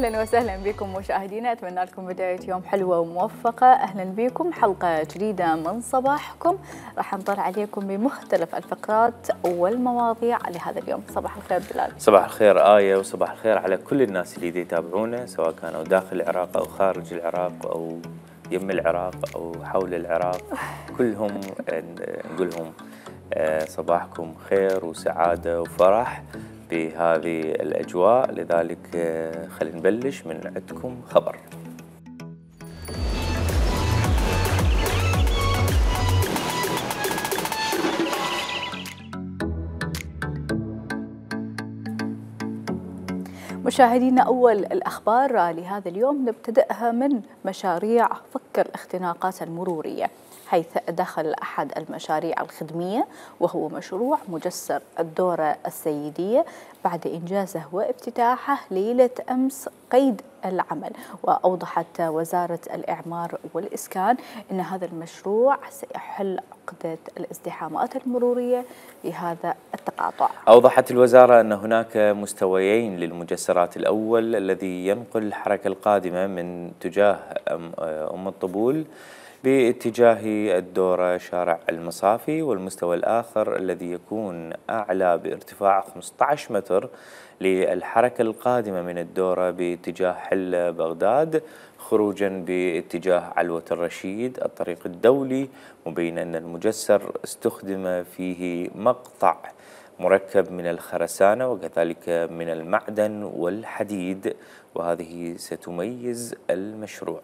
أهلا وسهلا بكم مشاهدينا، أتمنى لكم بداية يوم حلوة وموفقة. أهلا بكم حلقة جديدة من صباحكم، راح نطلع عليكم بمختلف الفقرات والمواضيع لهذا اليوم. صباح الخير بلال. صباح الخير آية، وصباح الخير على كل الناس اللي يتابعونا سواء كانوا داخل العراق أو خارج العراق أو يم العراق أو حول العراق، كلهم نقول لهم صباحكم خير وسعادة وفرح بهذه الأجواء. لذلك خلينا نبلش من عندكم خبر. مشاهدينا، أول الأخبار لهذا اليوم نبتدأها من مشاريع فك الاختناقات المرورية، حيث دخل أحد المشاريع الخدمية وهو مشروع مجسر الدورة السيدية بعد إنجازه وافتتاحه ليلة أمس قيد العمل. وأوضحت وزارة الإعمار والإسكان أن هذا المشروع سيحل عقدة الازدحامات المرورية لهذا التقاطع. أوضحت الوزارة أن هناك مستويين للمجسرات. الأول الذي ينقل الحركة القادمة من اتجاه أم الطبول باتجاه الدورة شارع المصافي، والمستوى الآخر الذي يكون أعلى بارتفاع 15 متر للحركة القادمة من الدورة باتجاه حل بغداد خروجا باتجاه علوة الرشيد الطريق الدولي، مبين أن المجسر استخدم فيه مقطع مركب من الخرسانة وكذلك من المعدن والحديد، وهذه ستميز المشروع.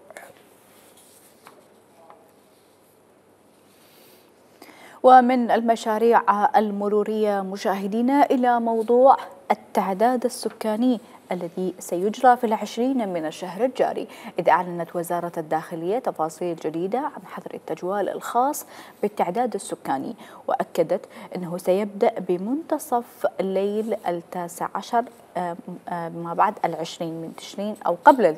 ومن المشاريع المرورية مشاهدينا إلى موضوع التعداد السكاني الذي سيجرى في 20 من الشهر الجاري، إذ أعلنت وزارة الداخلية تفاصيل جديدة عن حظر التجوال الخاص بالتعداد السكاني، وأكدت أنه سيبدأ بمنتصف الليل 19 ما بعد 20 من تشرين أو قبل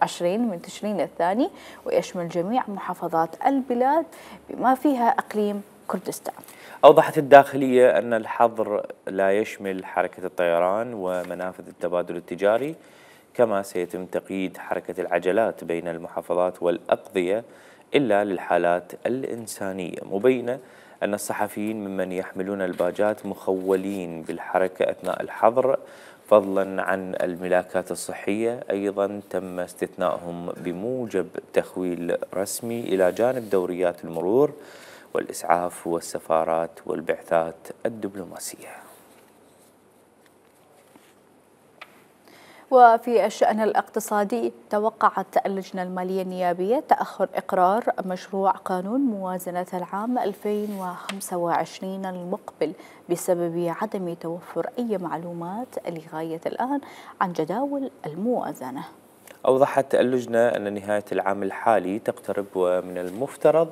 20 من تشرين الثاني، ويشمل جميع محافظات البلاد بما فيها إقليم كردستان. أوضحت الداخلية أن الحظر لا يشمل حركة الطيران ومنافذ التبادل التجاري، كما سيتم تقييد حركة العجلات بين المحافظات والأقضية إلا للحالات الإنسانية، مبينة أن الصحفيين ممن يحملون الباجات مخولين بالحركة أثناء الحظر، فضلا عن الملاكات الصحية أيضا تم استثنائهم بموجب تخويل رسمي إلى جانب دوريات المرور والإسعاف والسفارات والبعثات الدبلوماسية. وفي الشأن الاقتصادي، توقعت اللجنة المالية النيابية تأخر إقرار مشروع قانون موازنة العام 2025 المقبل بسبب عدم توفر أي معلومات لغاية الآن عن جداول الموازنة. أوضحت اللجنة أن نهاية العام الحالي تقترب، ومن المفترض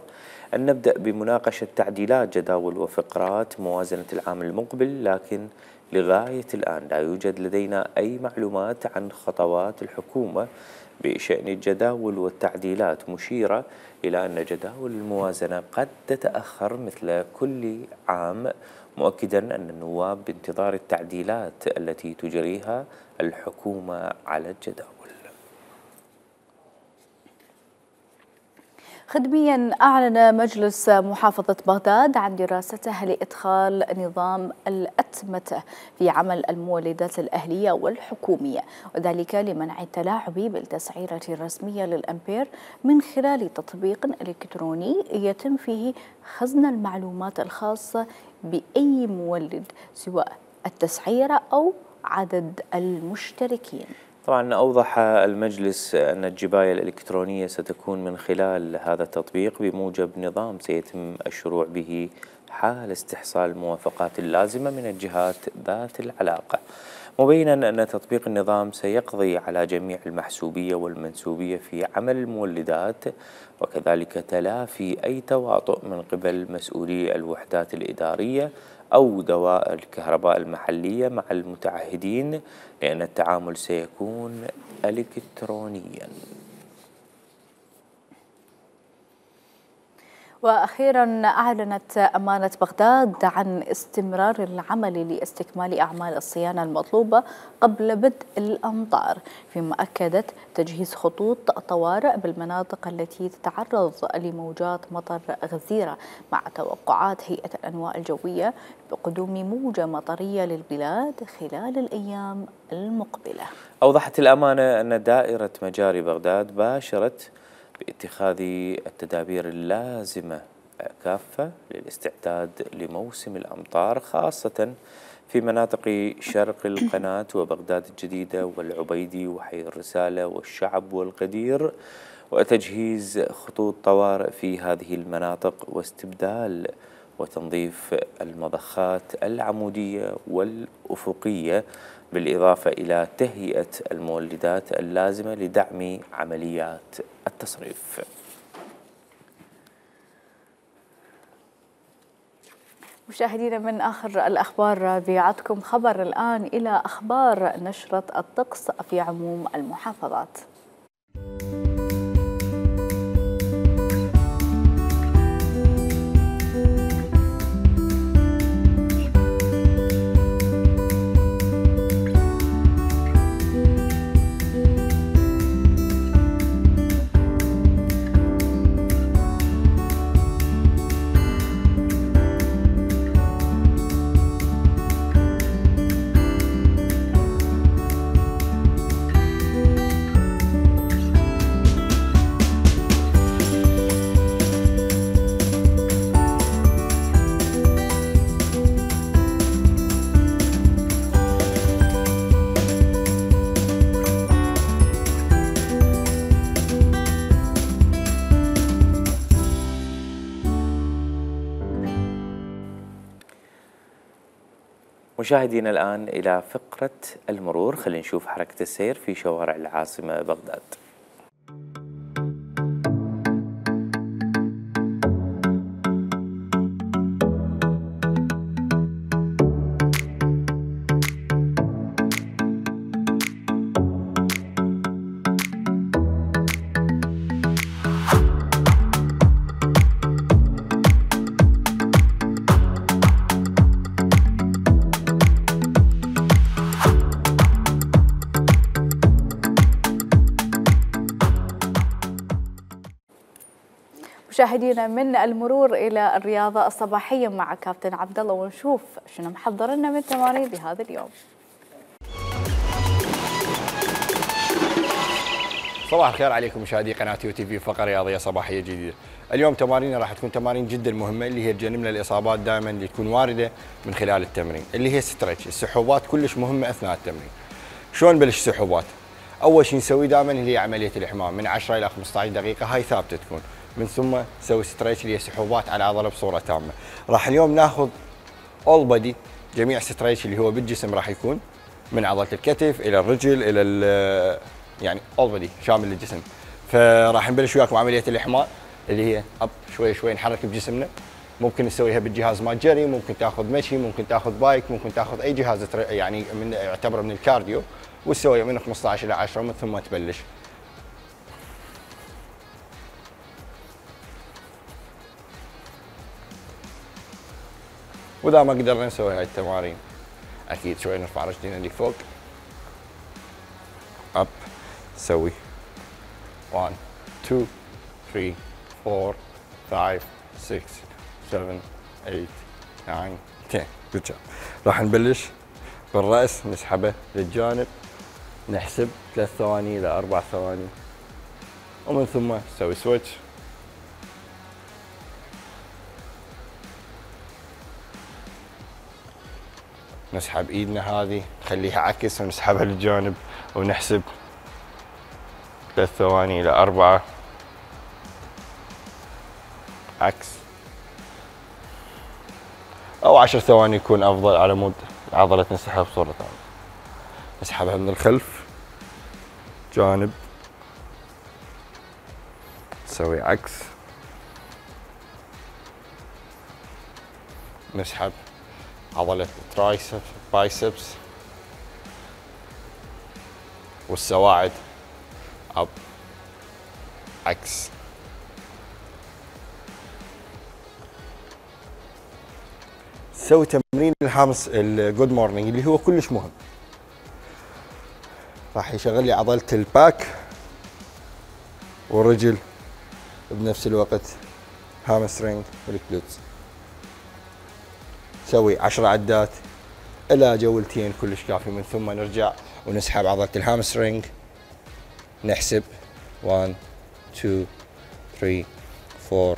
أن نبدأ بمناقشة تعديلات جداول وفقرات موازنة العام المقبل، لكن لغاية الآن لا يوجد لدينا أي معلومات عن خطوات الحكومة بشأن الجداول والتعديلات، مشيرة إلى أن جداول الموازنة قد تتأخر مثل كل عام، مؤكدا أن النواب بانتظار التعديلات التي تجريها الحكومة على الجداول. خدميا، أعلن مجلس محافظة بغداد عن دراسته لإدخال نظام الأتمتة في عمل المولدات الأهلية والحكومية، وذلك لمنع التلاعب بالتسعيرة الرسمية للأمبير من خلال تطبيق إلكتروني يتم فيه خزن المعلومات الخاصة بأي مولد سواء التسعيرة أو عدد المشتركين. طبعا أوضح المجلس أن الجباية الإلكترونية ستكون من خلال هذا التطبيق بموجب نظام سيتم الشروع به حال استحصال الموافقات اللازمة من الجهات ذات العلاقة، مبينا أن تطبيق النظام سيقضي على جميع المحسوبية والمنسوبية في عمل المولدات، وكذلك تلافي أي تواطؤ من قبل مسؤولي الوحدات الإدارية أو دوائر الكهرباء المحلية مع المتعهدين، لأن التعامل سيكون إلكترونياً. وأخيرا أعلنت أمانة بغداد عن استمرار العمل لاستكمال أعمال الصيانة المطلوبة قبل بدء الأمطار، فيما أكدت تجهيز خطوط طوارئ بالمناطق التي تتعرض لموجات مطر غزيرة، مع توقعات هيئة الأنواء الجوية بقدوم موجة مطرية للبلاد خلال الأيام المقبلة. أوضحت الأمانة أن دائرة مجاري بغداد باشرت باتخاذ التدابير اللازمة كافة للاستعداد لموسم الأمطار، خاصة في مناطق شرق القناة وبغداد الجديدة والعبيدي وحي الرسالة والشعب والقدير، وتجهيز خطوط طوارئ في هذه المناطق واستبدال وتنظيف المضخات العمودية والأفقية، بالإضافة إلى تهيئة المولدات اللازمة لدعم عمليات التصريف. مشاهدينا، من آخر الأخبار بيعدكم خبر الآن إلى أخبار نشرة الطقس في عموم المحافظات. مشاهدينا الآن إلى فقرة المرور، خلينا نشوف حركة السير في شوارع العاصمة بغداد. مشاهدينا، من المرور إلى الرياضة الصباحية مع كابتن عبد الله، ونشوف شنو محضر لنا من تمارين لهذا اليوم. صباح الخير عليكم مشاهدي قناة يو تي في، فقرة رياضية صباحية جديدة. اليوم تماريننا راح تكون تمارين جدا مهمة، اللي هي تجنبنا الإصابات دائما اللي تكون واردة من خلال التمرين، اللي هي ستريتش. السحوبات كلش مهمة أثناء التمرين. شلون نبلش السحوبات؟ أول شيء نسوي دائما اللي هي عملية الإحمام من 10 إلى 15 دقيقة، هاي ثابتة تكون. من ثم نسوي ستريتش اللي هي سحوبات على العضلة بصورة تامة. راح اليوم ناخذ اول بودي، جميع ستريتش اللي هو بالجسم، راح يكون من عضلة الكتف إلى الرجل إلى يعني اول بودي شامل للجسم. فراح نبلش وياكم عملية الإحماء اللي هي اب شوي شوي نحرك بجسمنا. ممكن نسويها بالجهاز مال جري، ممكن تاخذ مشي، ممكن تاخذ بايك، ممكن تاخذ اي جهاز يعني من يعتبر من الكارديو، وتسويها من 15 الى 10 ومن ثم تبلش. واذا ما قدرنا نسوي هاي التمارين اكيد شوي نرفع رجلينا لفوق، اب، نسوي 1 2 3 4 5 6 7 8 9 10. good job. راح نبلش بالراس، نسحبه للجانب، نحسب 3 ثواني الى 4 ثواني، ومن ثم نسوي سويتش. نسحب ايدنا هذه نخليها عكس ونسحبها للجانب ونحسب 3 ثواني الى 4 عكس، او 10 ثواني يكون افضل على مود العضله تنسحب بصوره تامه. نسحبها من الخلف جانب، نسوي عكس، نسحب عضلة الترايسبس بايسبس والسواعد اب عكس. نسوي تمرين الهامس الجود مورنينج اللي هو كلش مهم. راح يشغل لي عضله الباك والرجل بنفس الوقت، هامسترينج والكلوتس. نسوي 10 عدات الى جولتين كلش كافي. من ثم نرجع ونسحب عضله الهامسترينج، نحسب 1 2 3 4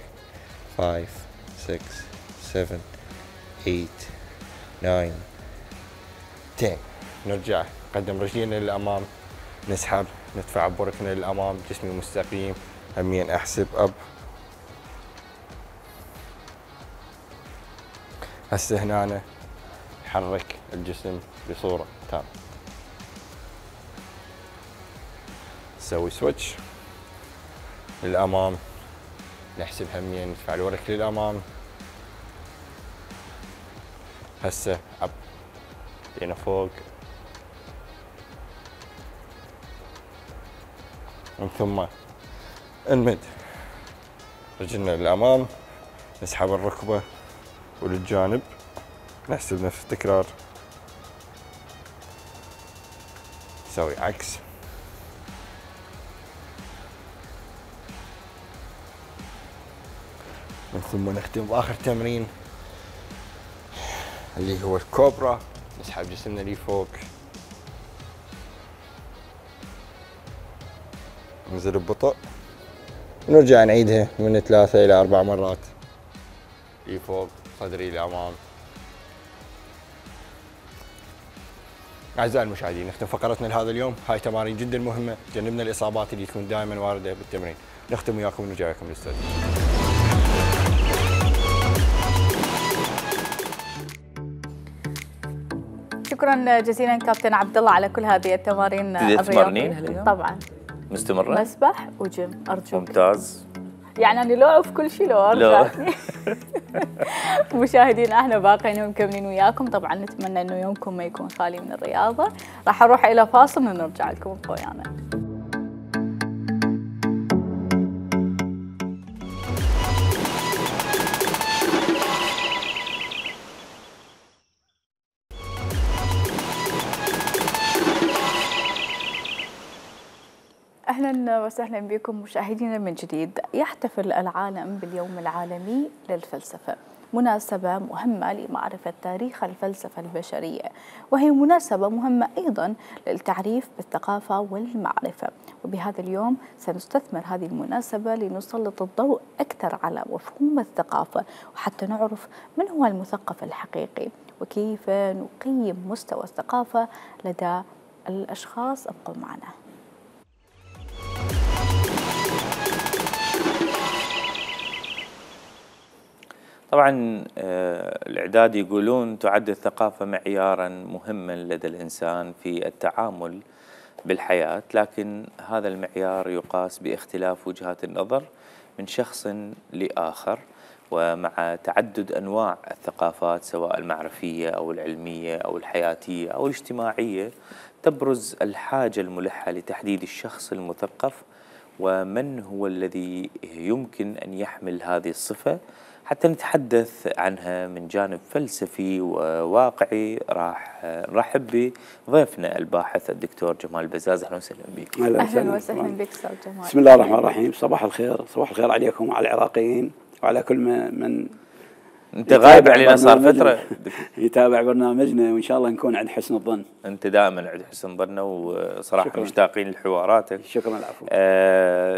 5 6 7 8 9 10. نرجع نقدم رجلينا للامام، نسحب، ندفع بركنا للامام، جسمي مستقيم، همين احسب اب. هسه هنا نحرك الجسم بصورة تامة. نسوي سويتش للامام، نحسب همين، ندفع الورك للامام. هسه اب هنا فوق، من ثم نمد رجلنا للامام، نسحب الركبه وللجانب، نحسب نفس التكرار. نسوي عكس، من ثم نختم باخر تمرين اللي هو الكوبرا. نسحب جسمنا لي فوق، ننزل ببطء، ونرجع نعيدها من 3 إلى 4 مرات. لي فوق، صدري لأمام. أعزائي المشاهدين، نختم فقرتنا لهذا اليوم. هاي تمارين جدا مهمة، جنبنا الإصابات اللي تكون دائما واردة بالتمرين. نختم وياكم ونرجع لكم للاستوديو. شكرا جزيلا كابتن عبد الله على كل هذه التمارين الرياضية. طبعا مستمرة؟ مسبح وجيم أرجوك. ممتاز. يعني أنا لو أعرف كل شيء لو أرجع. مشاهدينا احنا باقيين ومكملين وياكم. طبعا نتمنى انه يومكم ما يكون خالي من الرياضة. راح اروح الى فاصل ونرجع لكم خويانا. أهلا وسهلا بكم مشاهدينا من جديد. يحتفل العالم باليوم العالمي للفلسفة، مناسبة مهمة لمعرفة تاريخ الفلسفة البشرية، وهي مناسبة مهمة أيضا للتعريف بالثقافة والمعرفة. وبهذا اليوم سنستثمر هذه المناسبة لنسلط الضوء أكثر على مفهوم الثقافة، وحتى نعرف من هو المثقف الحقيقي وكيف نقيم مستوى الثقافة لدى الأشخاص. ابقوا معنا. طبعا الإعداد يقولون تعد الثقافة معيارا مهما لدى الإنسان في التعامل بالحياة، لكن هذا المعيار يقاس باختلاف وجهات النظر من شخص لآخر، ومع تعدد أنواع الثقافات سواء المعرفية أو العلمية أو الحياتية أو الاجتماعية، تبرز الحاجة الملحة لتحديد الشخص المثقف ومن هو الذي يمكن أن يحمل هذه الصفة. حتى نتحدث عنها من جانب فلسفي وواقعي راح نرحب بضيفنا الباحث الدكتور جمال بزاز. اهلا وسهلا بك. اهلا وسهلا بك استاذ جمال. بسم الله الرحمن الرحيم. صباح الخير، صباح الخير عليكم وعلى العراقيين وعلى كل من انت غايب علينا صار فتره يتابع برنامجنا، وان شاء الله نكون عند حسن الظن. انت دائما عند حسن ظننا، وصراحه مشتاقين لحواراتك. شكرا. العفو.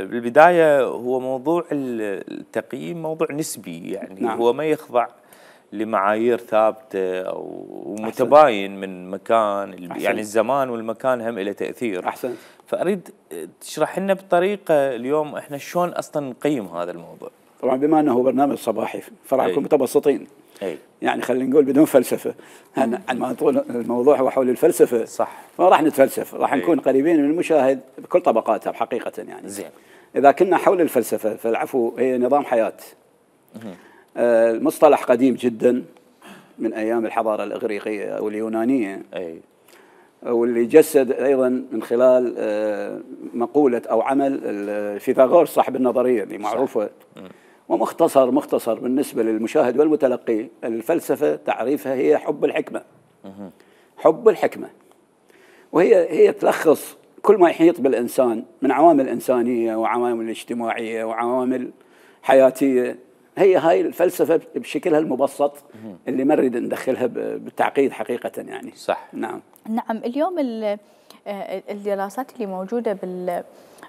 بالبدايه هو موضوع التقييم موضوع نسبي، يعني نعم. هو ما يخضع لمعايير ثابته او متباين من مكان. أحسن. يعني الزمان والمكان هم له تاثير. احسن. فاريد تشرح لنا بطريقه اليوم احنا شلون اصلا نقيم هذا الموضوع. طبعا بما انه هو برنامج صباحي فراح نكون متبسطين. يعني خلينا نقول بدون فلسفه. عندما طول الموضوع هو حول الفلسفه، صح، فراح نتفلسف، راح نكون قريبين من المشاهد بكل طبقاتها بحقيقه. يعني زين. اذا كنا حول الفلسفه فالعفو هي نظام حياه. المصطلح قديم جدا من ايام الحضاره الاغريقيه او اليونانيه. واللي جسد ايضا من خلال مقوله او عمل فيثاغورس صاحب النظريه اللي معروفه. مختصر بالنسبة للمشاهد والمتلقي. الفلسفة تعريفها هي حب الحكمة. حب الحكمة، وهي تلخص كل ما يحيط بالإنسان من عوامل إنسانية وعوامل اجتماعية وعوامل حياتية. هي هاي الفلسفة بشكلها المبسط اللي ما نريد ندخلها بالتعقيد حقيقة يعني. صح. نعم. اليوم الدراسات اللي موجودة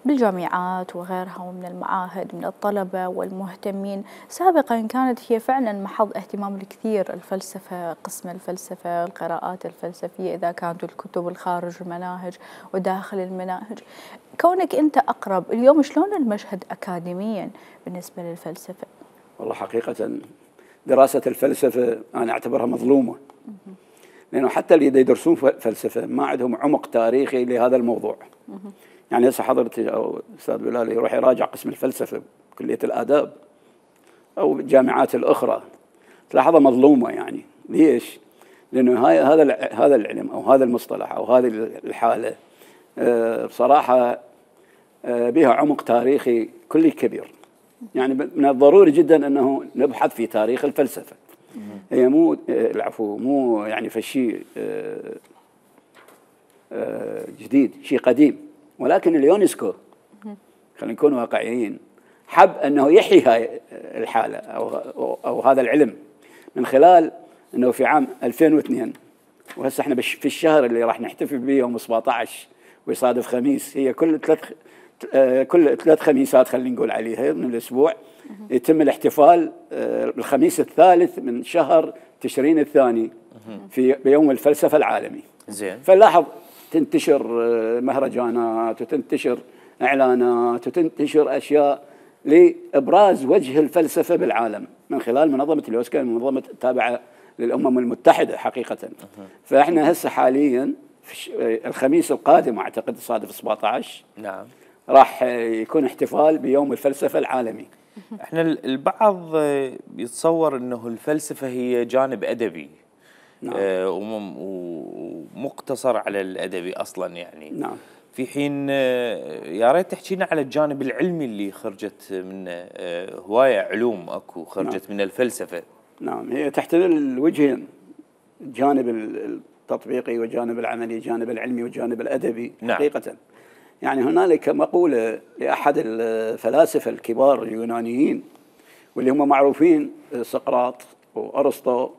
بالجامعات وغيرها ومن المعاهد من الطلبة والمهتمين، سابقا كانت هي فعلا محض اهتمام الكثير، الفلسفة، قسم الفلسفة، القراءات الفلسفية، إذا كانت الكتب الخارج المناهج وداخل المناهج. كونك أنت أقرب اليوم، شلون المشهد أكاديميا بالنسبة للفلسفة؟ والله حقيقة دراسة الفلسفة أنا أعتبرها مظلومة، لأنه حتى اللي يدرسون فلسفة ما عندهم عمق تاريخي لهذا الموضوع. يعني هسه حضرتك أو أستاذ بلال يروح يراجع قسم الفلسفة بكلية الآداب أو الجامعات الأخرى تلاحظها مظلومة. يعني ليش؟ لأنه هذا العلم أو هذا المصطلح أو هذه الحالة بصراحة بها عمق تاريخي كلي كبير. يعني من الضروري جدا أنه نبحث في تاريخ الفلسفة. هي مو يعني فشي جديد، شيء قديم، ولكن اليونسكو خلينا نكون واقعيين حب أنه يحيي هاي الحالة أو هذا العلم من خلال أنه في عام 2002، وهسه احنا في الشهر اللي راح نحتفل به يوم 17 ويصادف خميس، هي كل ثلاث خميسات خلينا نقول عليها من الأسبوع يتم الاحتفال بالخميس الثالث من شهر تشرين الثاني بيوم الفلسفة العالمي. زين. فلاحظ تنتشر مهرجانات وتنتشر إعلانات وتنتشر أشياء لإبراز وجه الفلسفة بالعالم من خلال منظمة اليونسكو، منظمة تابعة للأمم المتحدة حقيقة. فإحنا هسه حاليا في الخميس القادم أعتقد صادف 17 نعم راح يكون احتفال بيوم الفلسفة العالمي. احنا البعض يتصور انه الفلسفة هي جانب أدبي. نعم. ومقتصر على الأدبي أصلا يعني. نعم. في حين يا ريت تحكينا على الجانب العلمي اللي خرجت من هواية علوم اكو خرجت من الفلسفة. نعم، هي تحتمل الوجهين، الجانب التطبيقي والجانب العملي، الجانب العلمي والجانب الأدبي. نعم. حقيقة يعني هنالك مقولة لأحد الفلاسفة الكبار اليونانيين واللي هم معروفين، سقراط وأرسطو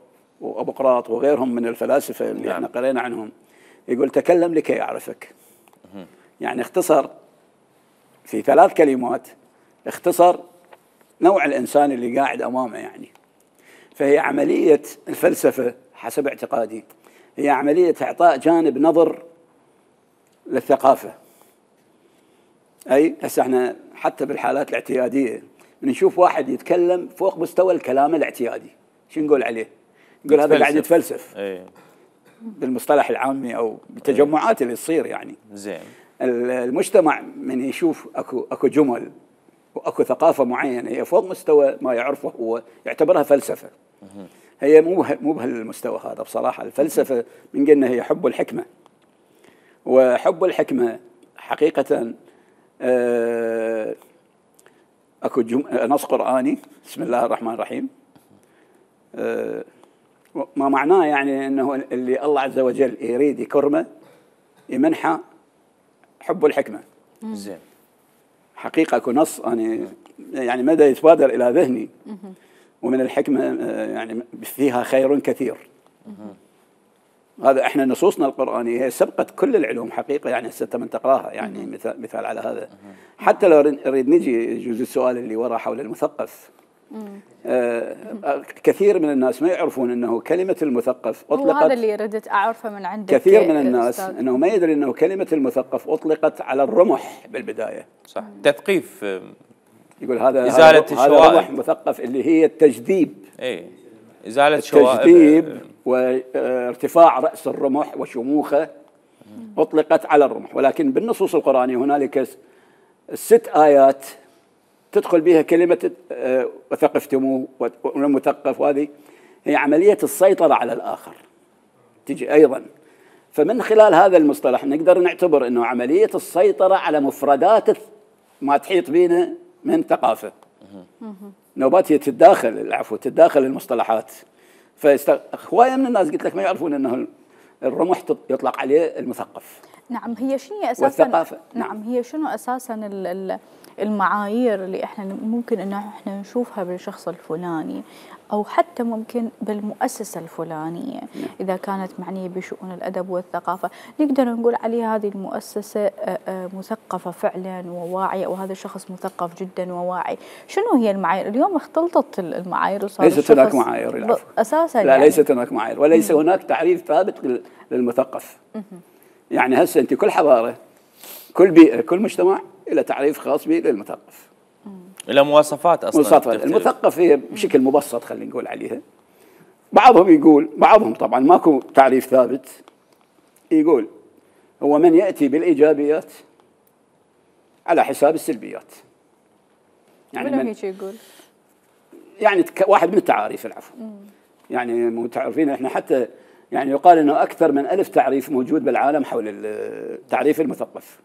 وأبوقراط وغيرهم من الفلاسفة اللي احنا قرينا عنهم، يقول تكلم لكي يعرفك. يعني اختصر في 3 كلمات، اختصر نوع الإنسان اللي قاعد أمامه يعني. فهي عملية الفلسفة حسب اعتقادي هي عملية إعطاء جانب نظر للثقافة. أي هسه احنا حتى بالحالات الاعتيادية بنشوف واحد يتكلم فوق مستوى الكلام الاعتيادي، شو نقول عليه؟ نقول هذا قاعد يتفلسف. ايه. بالمصطلح العامي او بالتجمعات اللي تصير يعني. زين. المجتمع من يشوف اكو جمل واكو ثقافه معينه هي فوق مستوى ما يعرفه هو يعتبرها فلسفه. هي مو بهالمستوى هذا بصراحه. الفلسفه من قلنا هي حب الحكمه، وحب الحكمه حقيقه اكو نص قراني بسم الله الرحمن الرحيم، ما معناه يعني انه اللي الله عز وجل يريد يكرمه يمنحه حب الحكمه. زين. حقيقه اكو نص انا يعني مدى يتبادر الى ذهني، ومن الحكمه يعني فيها خير كثير. هذا احنا نصوصنا القرانيه هي سبقت كل العلوم حقيقه، يعني هسه من تقراها يعني مثال على هذا. حتى لو نريد نجي جزء السؤال اللي ورا حول المثقف، كثير من الناس ما يعرفون انه كلمه المثقف اطلقت، هذا اللي ردت اعرفه من عندك. كثير من الناس انه ما يدري انه كلمه المثقف اطلقت على الرمح بالبدايه. صح. تثقيف. يقول هذا ازاله الشوائب. رمح مثقف اللي هي التجذيب. اي ازاله الشوائب. التجذيب وارتفاع راس الرمح وشموخه اطلقت على الرمح، ولكن بالنصوص القرانيه هنالك 6 آيات تدخل بها كلمة وثقفتموه والمثقف، وهذه هي عملية السيطرة على الآخر تجي أيضا. فمن خلال هذا المصطلح نقدر نعتبر أنه عملية السيطرة على مفردات ما تحيط بنا من ثقافة. نوبات هي تتداخل المصطلحات. هوايه من الناس قلت لك ما يعرفون انه الرمح يطلق عليه المثقف. نعم، هي شنو اساسا والثقافة. نعم، هي شنو اساسا المعايير اللي احنا ممكن انه احنا نشوفها بالشخص الفلاني او حتى ممكن بالمؤسسه الفلانيه اذا كانت معنيه بشؤون الادب والثقافه، نقدر نقول عليها هذه المؤسسه مثقفه فعلا وواعيه، وهذا الشخص مثقف جدا وواعي. شنو هي المعايير؟ اليوم اختلطت المعايير وصار ليست هناك معايير اساسا. لا، يعني ليست هناك معايير، وليس هناك تعريف ثابت للمثقف. يعني هسه انت كل حضاره، كل بيئه، كل مجتمع له تعريف خاص به للمثقف. له مواصفات اصلا. مواصفات المثقف هي بشكل مبسط خلينا نقول عليها. بعضهم يقول، بعضهم طبعا ماكو تعريف ثابت، يقول هو من ياتي بالايجابيات على حساب السلبيات. يعني من هيك يقول؟ يعني واحد من التعاريف العفو. يعني متعرفين احنا حتى يعني يقال انه اكثر من 1000 تعريف موجود بالعالم حول التعريف المثقف.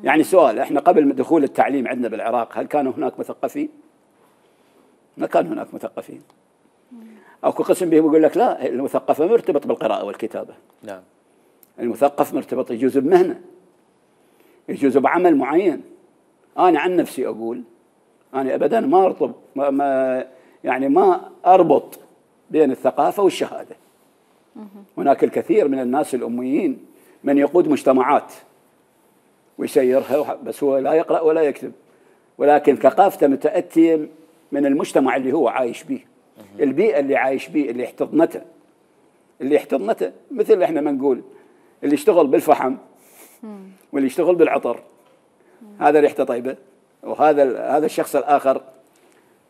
يعني سؤال، احنا قبل دخول التعليم عندنا بالعراق هل كانوا هناك مثقفين؟ ما كان هناك مثقفين. اكو قسم بهم يقول لك لا، المثقف مرتبط بالقراءة والكتابة. نعم. المثقف مرتبط يجوز بمهنة، يجوز بعمل معين. انا عن نفسي اقول انا ابدا ما ارتبط ما اربط بين الثقافة والشهادة. هناك الكثير من الناس الأميين من يقود مجتمعات ويسيرها، بس هو لا يقرأ ولا يكتب، ولكن ثقافته متأتية من المجتمع اللي هو عايش به، البيئة اللي عايش به، اللي احتضنته مثل احنا ما نقول اللي يشتغل بالفحم واللي يشتغل بالعطر، هذا ريحته طيبة، وهذا الشخص الآخر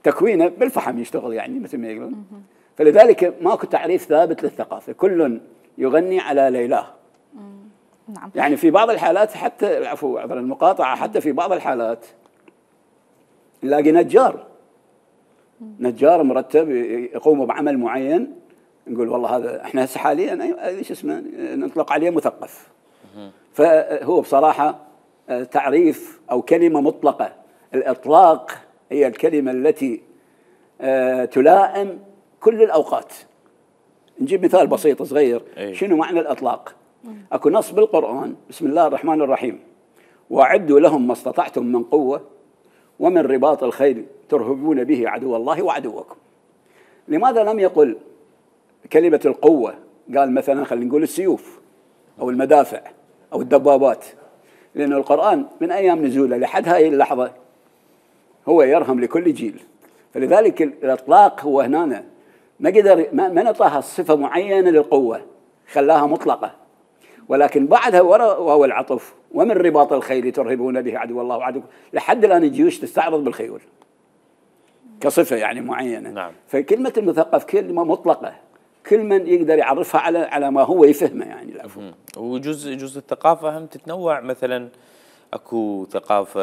تكوينه بالفحم يشتغل، يعني مثل ما يقولون. فلذلك ماكو تعريف ثابت للثقافة، كل يغني على ليلاه. نعم. يعني في بعض الحالات حتى عفوا عبر المقاطعة، حتى في بعض الحالات نلاقي نجار مرتب يقوم بعمل معين، نقول والله هذا احنا هسه حاليا ايش اسمه نطلق عليه مثقف. فهو بصراحة تعريف او كلمة مطلقة. الإطلاق هي الكلمة التي تلائم كل الأوقات. نجيب مثال بسيط صغير. شنو معنى الإطلاق؟ أكو نص بالقرآن، بسم الله الرحمن الرحيم، وأعدوا لهم ما استطعتم من قوة ومن رباط الخيل ترهبون به عدو الله وعدوكم. لماذا لم يقل كلمة القوة؟ قال مثلا خلينا نقول السيوف أو المدافع أو الدبابات، لأن القرآن من أيام نزوله لحد هاي اللحظة هو يرهم لكل جيل. فلذلك الإطلاق هو هنا ما نعطاها صفة معينة للقوة، خلاها مطلقة، ولكن بعدها وهو العطف، ومن رباط الخيل ترهبون به عدو الله وعدوكم، لحد الآن الجيوش تستعرض بالخيول كصفة يعني معينة. نعم. فكلمة المثقف كلمة مطلقة، كل من يقدر يعرفها على ما هو يفهمه يعني. العفو. وجزء الثقافة هم تتنوع، مثلا اكو ثقافة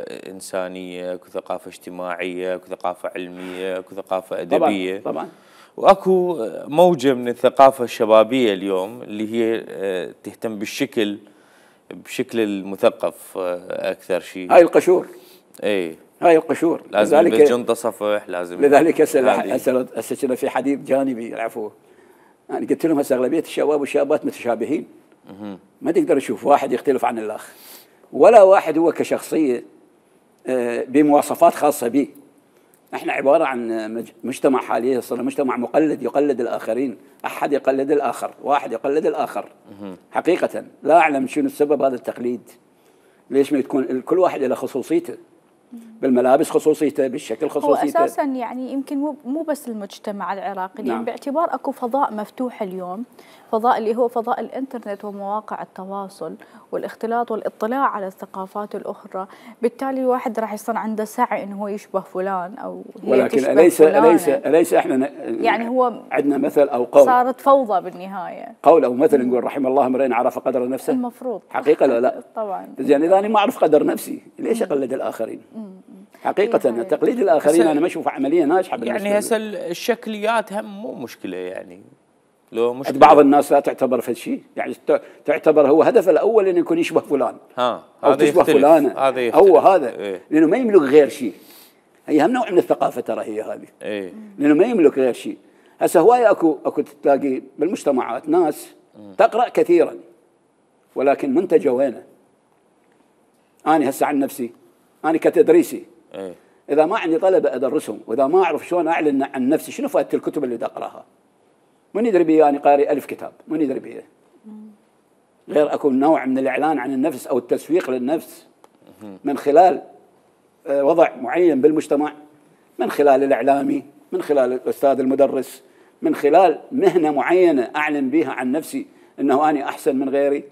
إنسانية، اكو ثقافة اجتماعية، اكو ثقافة علمية، اكو ثقافة أدبية. طبعا. واكو موجة من الثقافة الشبابية اليوم اللي هي تهتم بشكل المثقف أكثر شيء. هاي القشور. اي هاي القشور. لازم يلبس جنطة صفح، لازم. لذلك هسه في حديث جانبي العفو. يعني قلت لهم هسه أغلبية الشباب والشابات متشابهين. ما تقدر تشوف واحد يختلف عن الآخر، ولا واحد هو كشخصية بمواصفات خاصة به. احنا عبارة عن مجتمع حاليا صار مجتمع مقلد، يقلد الآخرين، أحد يقلد الآخر، واحد يقلد الآخر. حقيقة لا أعلم شنو السبب هذا التقليد. ليش ما تكون كل واحد له خصوصيته، بالملابس خصوصيته، بالشكل خصوصيته. هو أساسا يعني يمكن مو بس المجتمع العراقي. نعم. يعني باعتبار أكو فضاء مفتوح اليوم، فضاء اللي هو فضاء الإنترنت ومواقع التواصل والاختلاط والاطلاع على الثقافات الأخرى، بالتالي الواحد راح يصير عنده سعي إنه هو يشبه فلان أو هي ولكن أليس إحنا يعني هو عندنا مثل أو قول، صارت فوضى بالنهاية، قول أو مثل نقول رحم الله امرئ عرف قدر نفسه. المفروض حقيقة لا طبعا. يعني إذا أنا ما أعرف قدر نفسي ليش أقلد الآخرين؟ حقيقة تقليد الآخرين أنا ما أشوفها عملية ناجحة بالنسبة يعني هسه الشكليات هم مو مشكلة، يعني لو مشكلة بعض الناس لا تعتبر في شيء، يعني تعتبر هو هدفه الأول إنه يكون يشبه فلان أو تشبه فلانة، هو هذا. لأنه ما يملك غير شيء. هي هم نوع من الثقافه ترى هي هذه. اي لانه ما يملك غير شيء. هسه هوايه اكو تلاقي بالمجتمعات ناس تقرا كثيرا ولكن منتجه وينه؟ انا هسه عن نفسي انا كتدريسي اي اذا ما عندي طلبه ادرسهم واذا ما اعرف شلون اعلن عن نفسي شنو فائده الكتب اللي اقراها؟ من يدري بي انا قاري 1000 كتاب، من يدري بي غير اكو نوع من الاعلان عن النفس او التسويق للنفس من خلال وضع معين بالمجتمع، من خلال الاعلامي، من خلال الاستاذ المدرس، من خلال مهنه معينه اعلن بها عن نفسي انه انا احسن من غيري.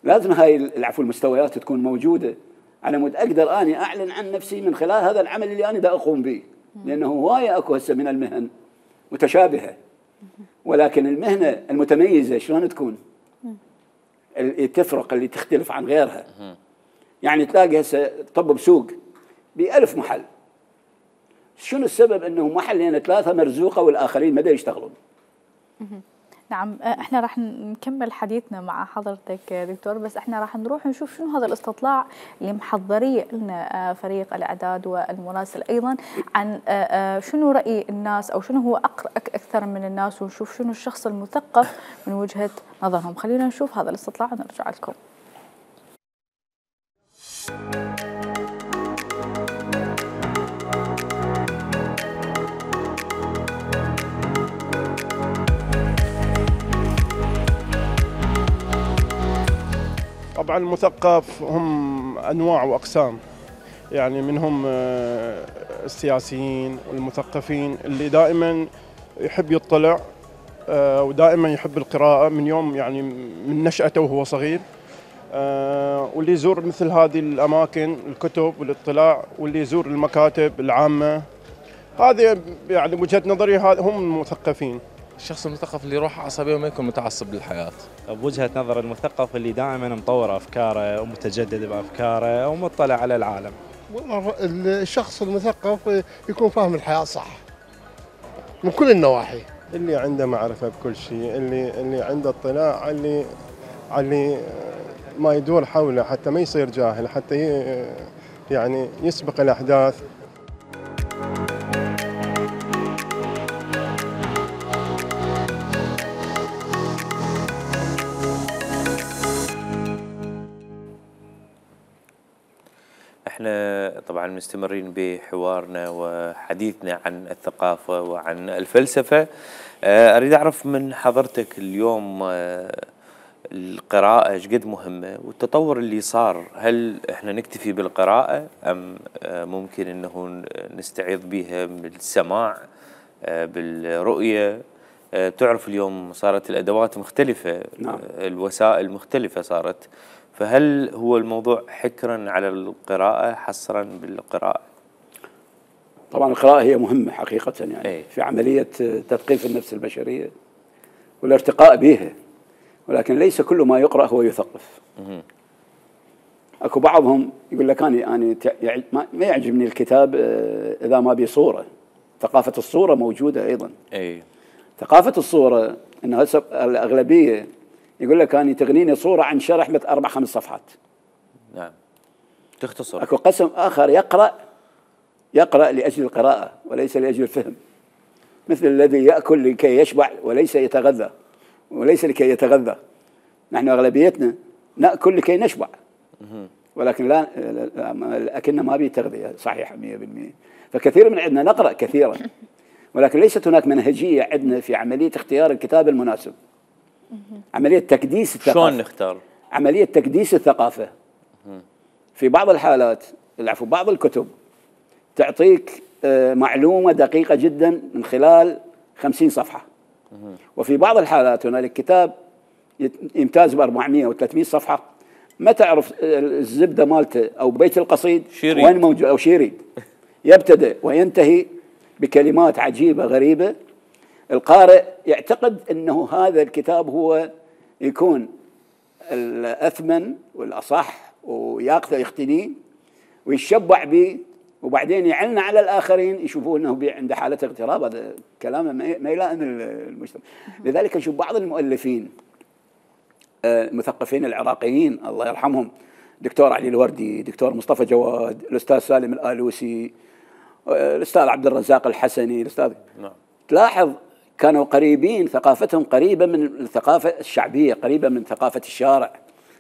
لازم هاي العفو المستويات تكون موجوده على مود اقدر اني اعلن عن نفسي من خلال هذا العمل اللي انا دا اقوم به، لانه هوايه اكو هسه من المهن متشابهه، ولكن المهنه المتميزه شلون تكون؟ اللي تفرق اللي تختلف عن غيرها. يعني تلاقي هسه طب بسوق ب1000 محل، شنو السبب انه محلين 3 مرزوقه والاخرين ما دا يشتغلون؟ نعم، احنا راح نكمل حديثنا مع حضرتك دكتور، بس احنا راح نروح نشوف شنو هذا الاستطلاع اللي محضريه لنا فريق الاعداد والمراسل ايضا عن شنو راي الناس او شنو هو اكثر من الناس، ونشوف شنو الشخص المثقف من وجهه نظرهم. خلينا نشوف هذا الاستطلاع ونرجع لكم. طبعا المثقف هم أنواع وأقسام، يعني منهم السياسيين والمثقفين اللي دائما يحب يطلع ودائما يحب القراءة من يوم يعني من نشأته وهو صغير، واللي يزور مثل هذه الأماكن الكتب والاطلاع، واللي يزور المكاتب العامة. هذه يعني بوجهة نظري هم المثقفين. الشخص المثقف اللي يروح عصبي وما يكون متعصب للحياة. بوجهة نظر المثقف اللي دائما مطور أفكاره ومتجدد بأفكاره ومطلع على العالم. والله الشخص المثقف يكون فاهم الحياة صح من كل النواحي، اللي عنده معرفة بكل شيء، اللي عنده اطلاع اللي ما يدور حوله، حتى ما يصير جاهل، حتى يعني يسبق الأحداث. احنا طبعا مستمرين بحوارنا وحديثنا عن الثقافة وعن الفلسفة. اريد اعرف من حضرتك اليوم القراءة ايش قد مهمة، والتطور اللي صار، هل احنا نكتفي بالقراءة ام ممكن انه نستعيض بها بالسماع بالرؤية؟ تعرف اليوم صارت الادوات مختلفة، نعم. الوسائل مختلفة صارت، فهل هو الموضوع حكرا على القراءة حصرا بالقراءة؟ طبعا القراءة هي مهمة حقيقة يعني أي. في عملية تثقيف النفس البشرية والارتقاء بها، ولكن ليس كل ما يقرأ هو يثقف. اكو بعضهم يقول لك انا ما يعجبني الكتاب اذا ما بي صورة. ثقافة الصورة موجودة ايضا. اي ثقافة الصورة انه هسه الاغلبية يقول لك أنا تغنيني صورة عن شرح 4-5 صفحات. نعم، تختصر. اكو قسم آخر يقرأ لأجل القراءة وليس لأجل الفهم، مثل الذي يأكل لكي يشبع وليس يتغذى، وليس لكي يتغذى. نحن أغلبيتنا نأكل لكي نشبع، ولكن لا أكلنا ما بيه تغذية صحيحة 100%. فكثير من عندنا نقرأ كثيرا، ولكن ليست هناك منهجية عندنا في عملية اختيار الكتاب المناسب. عملية تكديس الثقافة. شلون نختار؟ عملية تكديس الثقافة. في بعض الحالات بعض الكتب تعطيك معلومة دقيقة جدا من خلال 50 صفحة، وفي بعض الحالات هنالك كتاب يمتاز ب400 و300 صفحة ما تعرف الزبدة مالته أو بيت القصيد وين موجود، أو شيرين يبتدئ وينتهي بكلمات عجيبة غريبة. القارئ يعتقد أنه هذا الكتاب هو يكون الأثمن والأصح وياخذه يختنيه ويشبع به، وبعدين يعلن على الآخرين يشوفون أنه عنده حالة اغتراب. هذا كلامه ما يلائم المجتمع. لذلك نشوف بعض المؤلفين المثقفين العراقيين الله يرحمهم، دكتور علي الوردي، دكتور مصطفى جواد، الأستاذ سالم الآلوسي، الأستاذ عبد الرزاق الحسني، الأستاذ نعم. تلاحظ كانوا قريبين، ثقافتهم قريبة من الثقافة الشعبية، قريبة من ثقافة الشارع.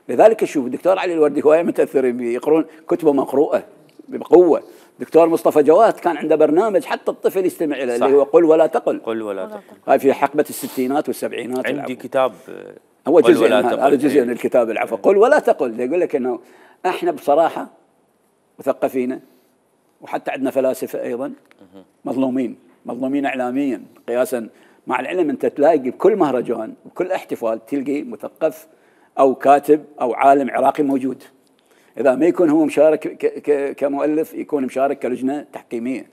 لذلك شوف الدكتور علي الوردي هواية متأثرين به، يقرون كتبه مقروءة بقوة. دكتور مصطفى جواد كان عنده برنامج حتى الطفل يستمع إليه اللي هو قل ولا تقل. قل ولا تقل. هاي في حقبة الستينات والسبعينات. عندي كتاب هو جزء هذا جزء من الكتاب العفو. قل ولا تقل يقول لك انه احنا بصراحه مثقفين، وحتى عندنا فلاسفه ايضا مظلومين اعلاميا قياسا مع العلم. انت تلاقي بكل مهرجان وكل احتفال تلقي مثقف او كاتب او عالم عراقي موجود. اذا ما يكون هو مشارك كمؤلف، يكون مشارك كلجنه تحكيميه.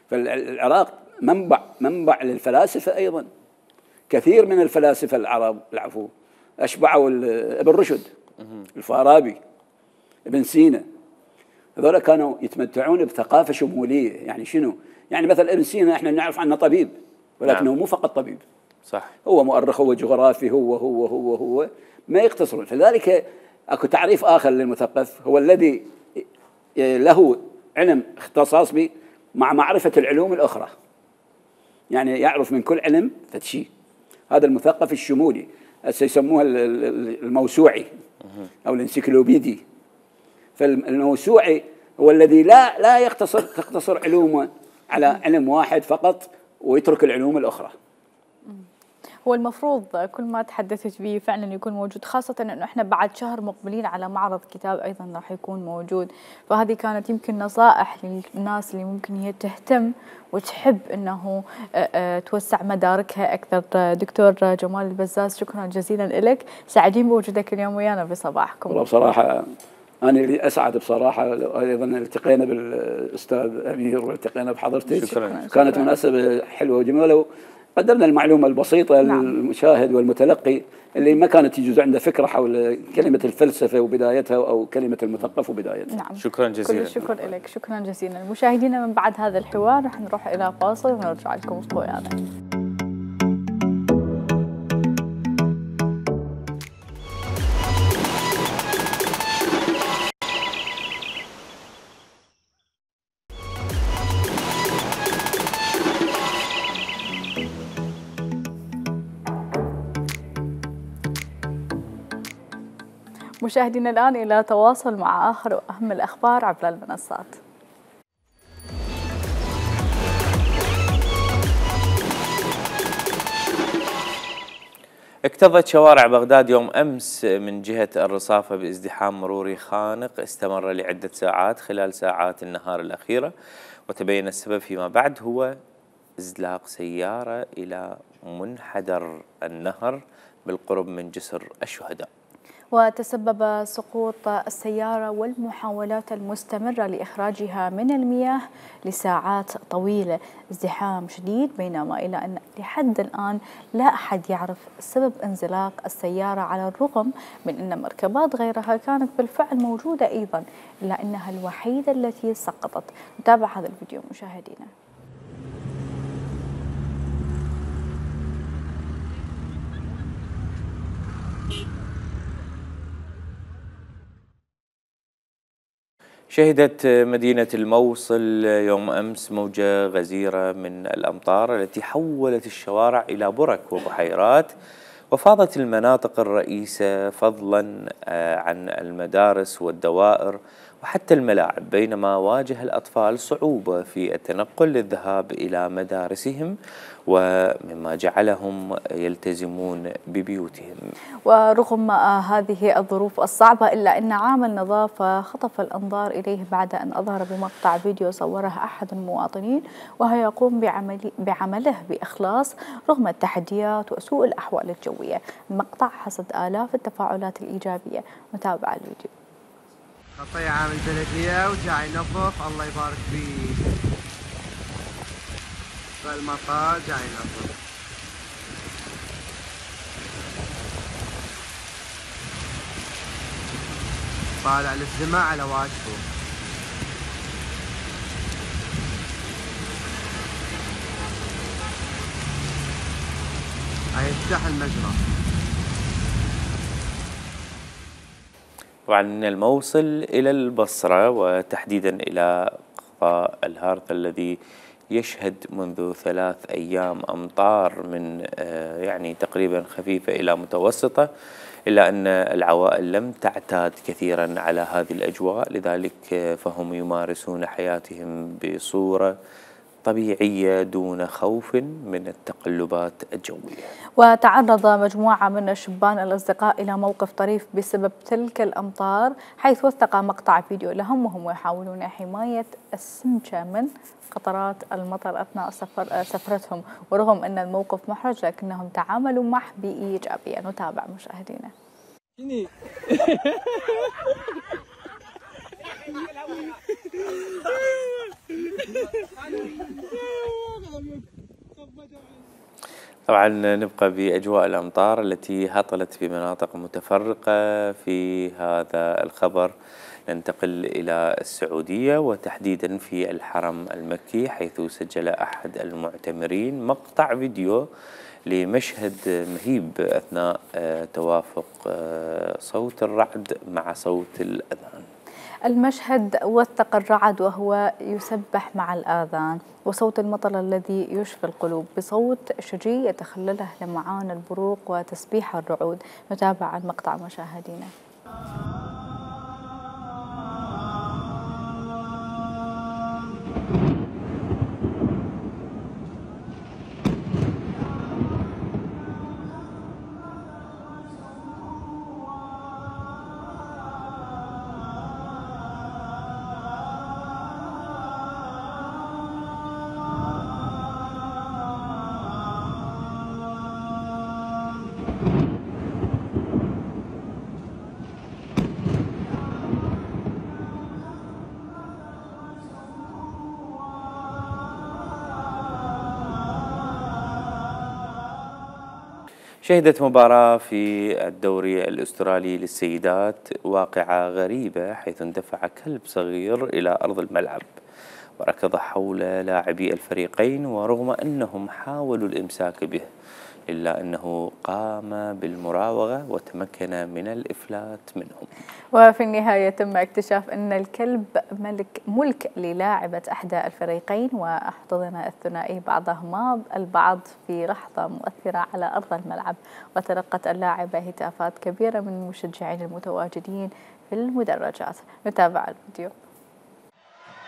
فالعراق منبع للفلاسفه ايضا. كثير من الفلاسفه العرب العفو اشبعوا ابن رشد، الفارابي، ابن سينا. هذول كانوا يتمتعون بثقافه شموليه. يعني شنو؟ يعني مثلا ابن سينا احنا نعرف عنه طبيب، ولكنه مو فقط طبيب. صح. هو مؤرخ، هو جغرافي، هو ما يقتصرون. فلذلك اكو تعريف اخر للمثقف، هو الذي له علم اختصاص به مع معرفه العلوم الاخرى. يعني يعرف من كل علم شيء. هذا المثقف الشمولي، يسموها الموسوعي او الانسيكلوبيدي. فالموسوعي هو الذي لا تقتصر علومه على علم واحد فقط ويترك العلوم الاخرى. هو المفروض كل ما تحدثت به فعلا يكون موجود، خاصة انه احنا بعد شهر مقبلين على معرض كتاب ايضا راح يكون موجود. فهذه كانت يمكن نصائح للناس اللي ممكن هي تهتم وتحب انه توسع مداركها اكثر. دكتور جمال البزاز، شكرا جزيلا لك، سعيدين بوجودك اليوم ويانا بصباحكم. والله بصراحة أنا اللي أسعد بصراحة، أيضا التقينا بالأستاذ أمير والتقينا بحضرتك. شكرا. كانت مناسبة حلوة وجميلة، وقدمنا المعلومة البسيطة للمشاهد والمتلقي اللي ما كانت يجوز عنده فكرة حول كلمة الفلسفة وبدايتها أو كلمة المثقف وبدايتها. نعم. شكرا جزيلا. كل الشكر لك، شكرا جزيلا. مشاهدينا من بعد هذا الحوار رح نروح إلى فاصل ونرجع لكم ويانا. مشاهدينا الآن إلى تواصل مع آخر وأهم الأخبار عبر المنصات. اكتظت شوارع بغداد يوم أمس من جهة الرصافة بازدحام مروري خانق استمر لعدة ساعات خلال ساعات النهار الأخيرة، وتبين السبب فيما بعد هو إزلاق سيارة إلى منحدر النهر بالقرب من جسر الشهداء. وتسبب سقوط السيارة والمحاولات المستمرة لإخراجها من المياه لساعات طويلة، ازدحام شديد، بينما إلى أن لحد الآن لا أحد يعرف سبب انزلاق السيارة، على الرغم من أن مركبات غيرها كانت بالفعل موجودة أيضا، إلا أنها الوحيدة التي سقطت. نتابع هذا الفيديو مشاهدينا. شهدت مدينة الموصل يوم أمس موجة غزيرة من الأمطار التي حولت الشوارع إلى برك وبحيرات، وفاضت المناطق الرئيسة فضلا عن المدارس والدوائر وحتى الملاعب، بينما واجه الأطفال صعوبة في التنقل للذهاب إلى مدارسهم، ومما جعلهم يلتزمون ببيوتهم. ورغم هذه الظروف الصعبة إلا أن عامل نظافة خطف الأنظار إليه بعد أن أظهر بمقطع فيديو صوره أحد المواطنين وهو يقوم بعمله بإخلاص رغم التحديات وسوء الأحوال الجوية. المقطع حصد آلاف التفاعلات الإيجابية. نتابع الفيديو. خطية عامل بلدية وجاي ينظف، الله يبارك فيه. فالمطار جاي ينظف. طالع للسماء على واجبه. هيفتح المجرى. طبعا من الموصل إلى البصرة وتحديدا إلى شفاء الهارث الذي يشهد منذ 3 أيام أمطار من يعني تقريبا خفيفة إلى متوسطة، إلا أن العوائل لم تعتاد كثيرا على هذه الأجواء، لذلك فهم يمارسون حياتهم بصورة طبيعية دون خوف من التقلبات الجوية. وتعرض مجموعة من الشبان الأصدقاء إلى موقف طريف بسبب تلك الأمطار، حيث وثق مقطع فيديو لهم وهم يحاولون حماية السمكة من قطرات المطر أثناء سفرتهم. ورغم أن الموقف محرج لكنهم تعاملوا معه بإيجابية. نتابع مشاهدينا. طبعا نبقى بأجواء الأمطار التي هطلت في مناطق متفرقة. في هذا الخبر ننتقل إلى السعودية وتحديدا في الحرم المكي، حيث سجل أحد المعتمرين مقطع فيديو لمشهد مهيب أثناء توافق صوت الرعد مع صوت الأذان. المشهد وثق الرعد وهو يسبح مع الآذان وصوت المطر الذي يشفي القلوب بصوت شجي يتخلله لمعان البروق وتسبيح الرعود. نتابع المقطع مشاهدينا. شهدت مباراة في الدوري الأسترالي للسيدات واقعة غريبة، حيث اندفع كلب صغير إلى أرض الملعب وركض حول لاعبي الفريقين، ورغم أنهم حاولوا الإمساك به إلا أنه قام بالمراوغة وتمكن من الإفلات منهم. وفي النهاية تم اكتشاف أن الكلب ملك للاعبة إحدى الفريقين، واحتضن الثنائي بعضهما البعض في لحظة مؤثرة على أرض الملعب، وتلقت اللاعبة هتافات كبيرة من المشجعين المتواجدين في المدرجات. نتابع الفيديو.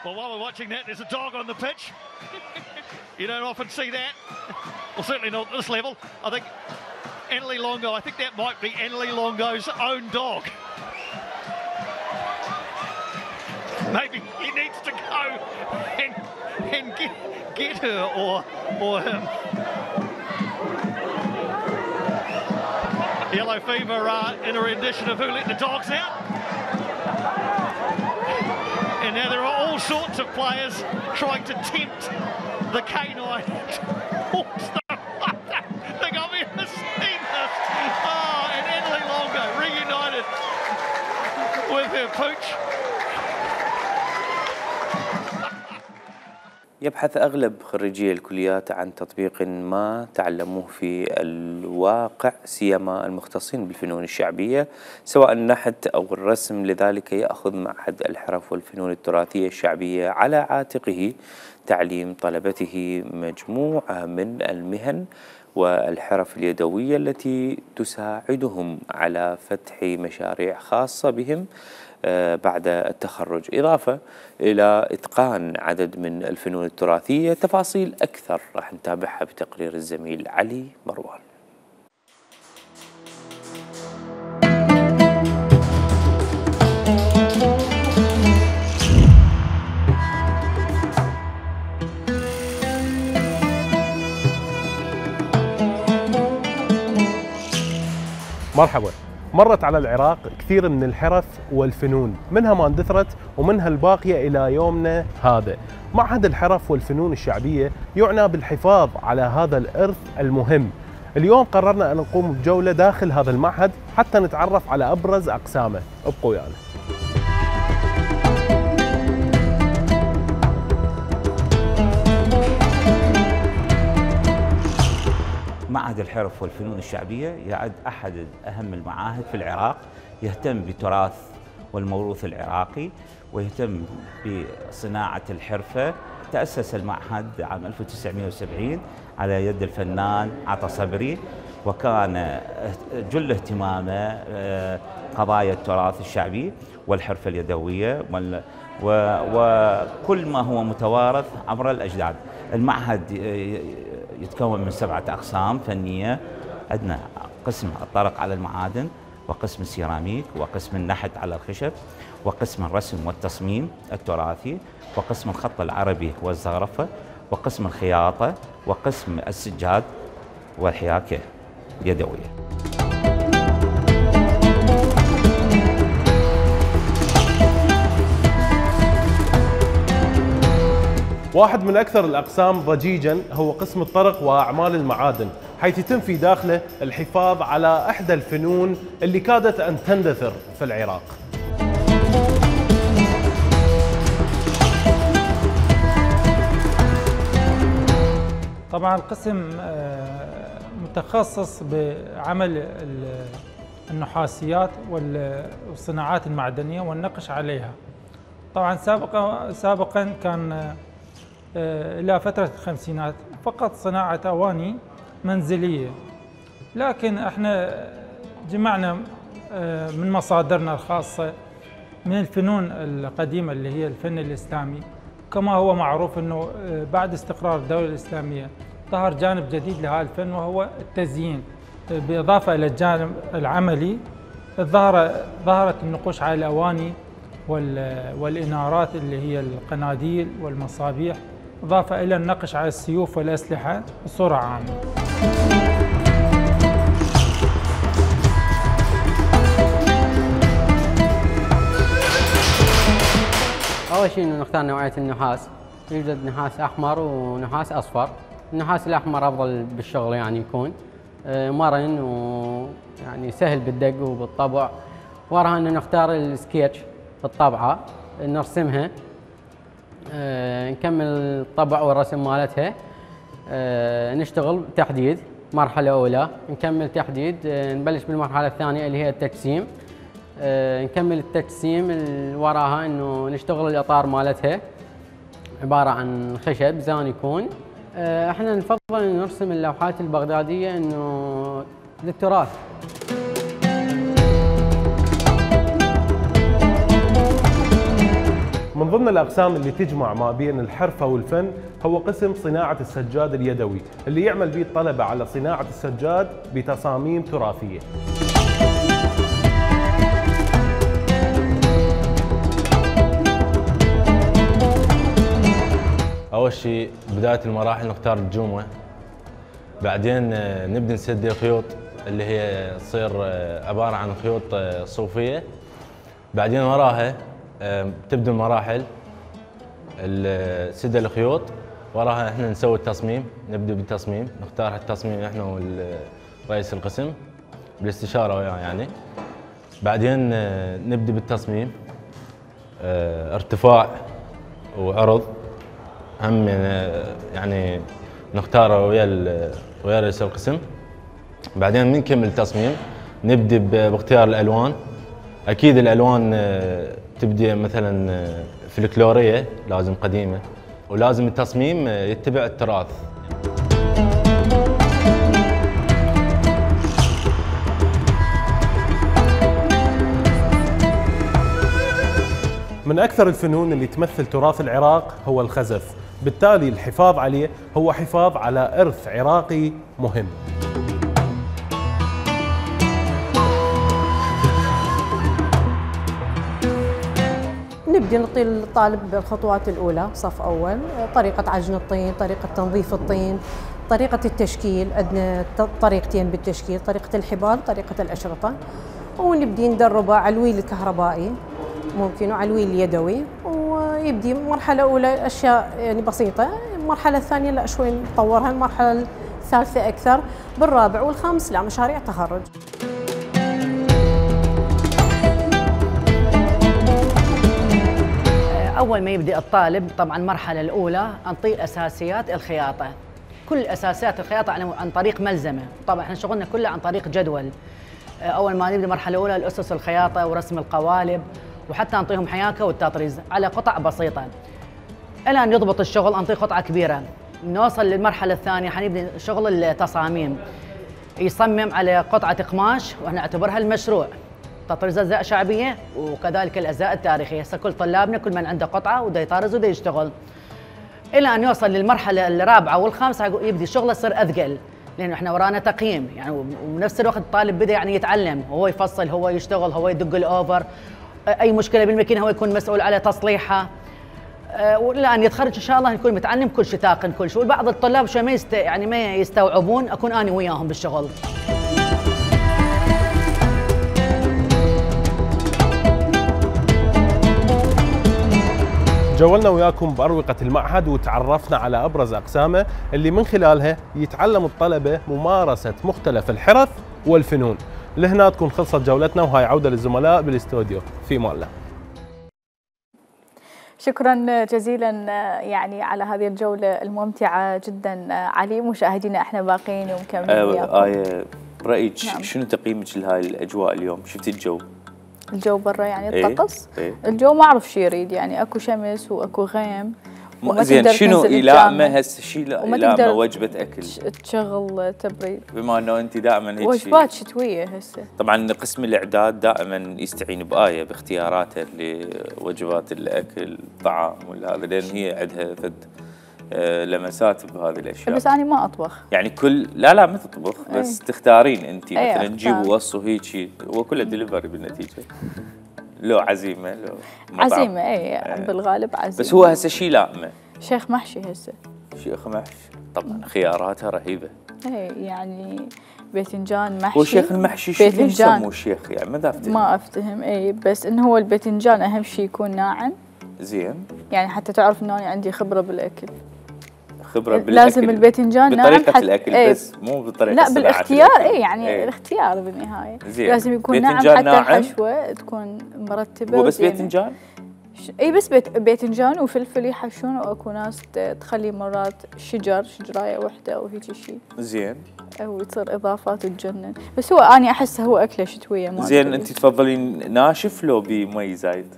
Well, while we're watching that, there's a dog on the pitch. You don't often see that. Well, certainly not at this level. I think Annalie Longo, I think that might be Annalie Longo's own dog. Maybe he needs to go and get her or him. Yellow fever in a rendition of Who Let the Dogs Out. And now there are all sorts of players trying to tempt the canine towards them. I think I've ever seen this. Oh, and Annalie Longo reunited with her pooch. يبحث أغلب خريجي الكليات عن تطبيق ما تعلموه في الواقع، سيما المختصين بالفنون الشعبية سواء النحت أو الرسم، لذلك يأخذ معهد الحرف والفنون التراثية الشعبية على عاتقه تعليم طلبته مجموعة من المهن والحرف اليدوية التي تساعدهم على فتح مشاريع خاصة بهم بعد التخرج، إضافة إلى إتقان عدد من الفنون التراثية. تفاصيل أكثر راح نتابعها بتقرير الزميل علي مروان. مرحبا. مرت على العراق كثير من الحرف والفنون، منها ما اندثرت ومنها الباقية إلى يومنا هذا. معهد الحرف والفنون الشعبية يعنى بالحفاظ على هذا الإرث المهم. اليوم قررنا أن نقوم بجولة داخل هذا المعهد حتى نتعرف على أبرز أقسامه. ابقوا ويانا. معهد الحرف والفنون الشعبية يعد أحد أهم المعاهد في العراق، يهتم بالتراث والموروث العراقي ويهتم بصناعة الحرفة. تأسس المعهد عام 1970 على يد الفنان عطا صبري، وكان جل اهتمامه قضايا التراث الشعبي والحرفة اليدوية وكل ما هو متوارث عبر الأجداد. المعهد يتكون من 7 أقسام فنية. عندنا قسم الطرق على المعادن، وقسم السيراميك، وقسم النحت على الخشب، وقسم الرسم والتصميم التراثي، وقسم الخط العربي والزخرفة، وقسم الخياطة، وقسم السجاد والحياكة اليدوية. واحد من أكثر الأقسام ضجيجاً هو قسم الطرق وأعمال المعادن، حيث يتم في داخله الحفاظ على إحدى الفنون اللي كادت أن تندثر في العراق. طبعاً القسم متخصص بعمل النحاسيات والصناعات المعدنية والنقش عليها. طبعاً سابقاً كان إلى فترة الخمسينات فقط صناعة أواني منزلية، لكن احنا جمعنا من مصادرنا الخاصة من الفنون القديمة اللي هي الفن الإسلامي. كما هو معروف أنه بعد استقرار الدولة الإسلامية ظهر جانب جديد لهذا الفن وهو التزيين، بالإضافة إلى الجانب العملي ظهرت النقوش على الأواني والإنارات اللي هي القناديل والمصابيح، إضافة إلى النقش على السيوف والأسلحة بصورة عامة. أول شيء إنه نختار نوعية النحاس. يوجد نحاس أحمر ونحاس أصفر. النحاس الأحمر أفضل بالشغل، يعني يكون مرن ويعني سهل بالدق وبالطبع. وراها إنه نختار السكتش الطبعة نرسمها، نكمل الطبع والرسم مالتها، نشتغل تحديد مرحلة أولى، نكمل تحديد، نبلش بالمرحلة الثانية اللي هي التجسيم، نكمل التجسيم وراها انه نشتغل الاطار مالتها عبارة عن خشب زان يكون. احنا نفضل ان نرسم اللوحات البغدادية انه للتراث. من ضمن الأقسام اللي تجمع ما بين الحرفة والفن هو قسم صناعة السجاد اليدوي، اللي يعمل به الطلبة على صناعة السجاد بتصاميم تراثية. أول شيء بداية المراحل نختار الجومة، بعدين نبدأ نسد الخيوط اللي هي تصير عبارة عن خيوط صوفية. بعدين وراها تبدأ المراحل سد الخيوط، وراها احنا نسوي التصميم، نبدأ بالتصميم، نختار التصميم احنا ورئيس القسم بالاستشارة وياه يعني. بعدين نبدأ بالتصميم ارتفاع وعرض، هم يعني نختاره ويا رئيس القسم. بعدين بنكمل التصميم، نبدأ باختيار الألوان. أكيد الألوان تبدأ مثلا فلكلورية لازم قديمة، ولازم التصميم يتبع التراث. من أكثر الفنون اللي تمثل تراث العراق هو الخزف، بالتالي الحفاظ عليه هو حفاظ على إرث عراقي مهم. نبدأ نعطي الطالب الخطوات الأولى صف أول، طريقة عجن الطين، طريقة تنظيف الطين، طريقة التشكيل. عندنا طريقتين بالتشكيل، طريقة الحبال، طريقة الأشرطة. ونبدأ ندربه على الويل الكهربائي ممكن وعلى الويل اليدوي، ويبدي مرحلة أولى أشياء يعني بسيطة، المرحلة الثانية لا شوي نطورها، المرحلة الثالثة أكثر، بالرابع والخامس لا مشاريع تخرج. أول ما يبدأ الطالب طبعاً المرحلة الأولى نعطيه أساسيات الخياطة، كل أساسيات الخياطة عن طريق ملزمة. طبعاً احنا شغلنا كله عن طريق جدول. أول ما نبدأ المرحلة الأولى الأسس الخياطة ورسم القوالب وحتى نعطيهم حياكه والتطريز على قطع بسيطه. الى ان يضبط الشغل نعطيه قطعه كبيره. نوصل للمرحله الثانيه حنبدا شغل التصاميم. يصمم على قطعه قماش ونعتبرها المشروع. تطريز اجزاء شعبيه وكذلك الاجزاء التاريخيه، هسه كل طلابنا كل من عنده قطعه وده يطرز وده يشتغل. الى ان يوصل للمرحله الرابعه والخامسه يبدي شغله يصير اثقل، لانه احنا ورانا تقييم يعني، وبنفس الوقت الطالب بدا يعني يتعلم، هو يفصل، هو يشتغل، هو يدق الاوفر، اي مشكله بالماكينه هو يكون مسؤول على تصليحها. والى ان يتخرج ان شاء الله يكون متعلم كل شيء، تاقن كل شيء. وبعض الطلاب شوي ما يستوعبون، اكون اني وياهم بالشغل. جولنا وياكم بأروقة المعهد وتعرفنا على أبرز أقسامه اللي من خلالها يتعلم الطلبة ممارسة مختلف الحرف والفنون. لهنا تكون خلصت جولتنا، وهاي عودة للزملاء بالاستوديو. في مان الله. شكرا جزيلا يعني على هذه الجولة الممتعة جدا علي. مشاهدينا احنا باقيين ومكملين وياكم. برأيك شنو تقييمك لهاي الأجواء اليوم؟ شفتي الجو برا يعني الطقس؟ ايه؟ الجو ما اعرف شو يريد، يعني اكو شمس واكو غيم. زين شنو يلائمه هسه شيء يلائمه وجبة اكل تشغل تبريد، بما انه انت دائما هيك وجبات شتوية هسه. طبعا قسم الاعداد دائما يستعين بآية باختياراته لوجبات الاكل الطعام ولا هذا، لان هي عندها فد لمسات بهذه الاشياء. بس انا ما اطبخ يعني لا ما تطبخ، بس تختارين انت مثلا تجيب وصوا هيك وكله دليفري بالنتيجه. لو عزيمه لو مطعم. عزيمه اي بالغالب عزيمه. بس هو هسه شيء لائمه شيخ محشي هسه. شيخ محشي طبعا خياراتها رهيبه. اي يعني باذنجان محشي. هو شيخ المحشي ليش سموه شيخ يعني ما افتهم. اي بس انه هو الباذنجان اهم شيء يكون ناعم. زين يعني حتى تعرف انه انا عندي خبره بالاكل. خبره بالاكل لازم الباذنجان ناعم بطريقه الاكل بس مو بطريقه لا بالاختيار. اي يعني الاختيار بالنهايه زين. لازم يكون ناعم حتى ناعم. الحشوه تكون مرتبه. هو بس باذنجان؟ اي بس باذنجان وفلفل يحشون، واكو ناس تخلي مرات شجرايه وحده وهيك شيء. زين. وتصير اضافات تجنن، بس هو اني احسه هو اكله شتويه. ما زين انت تفضلين ناشف لو بمي زايد؟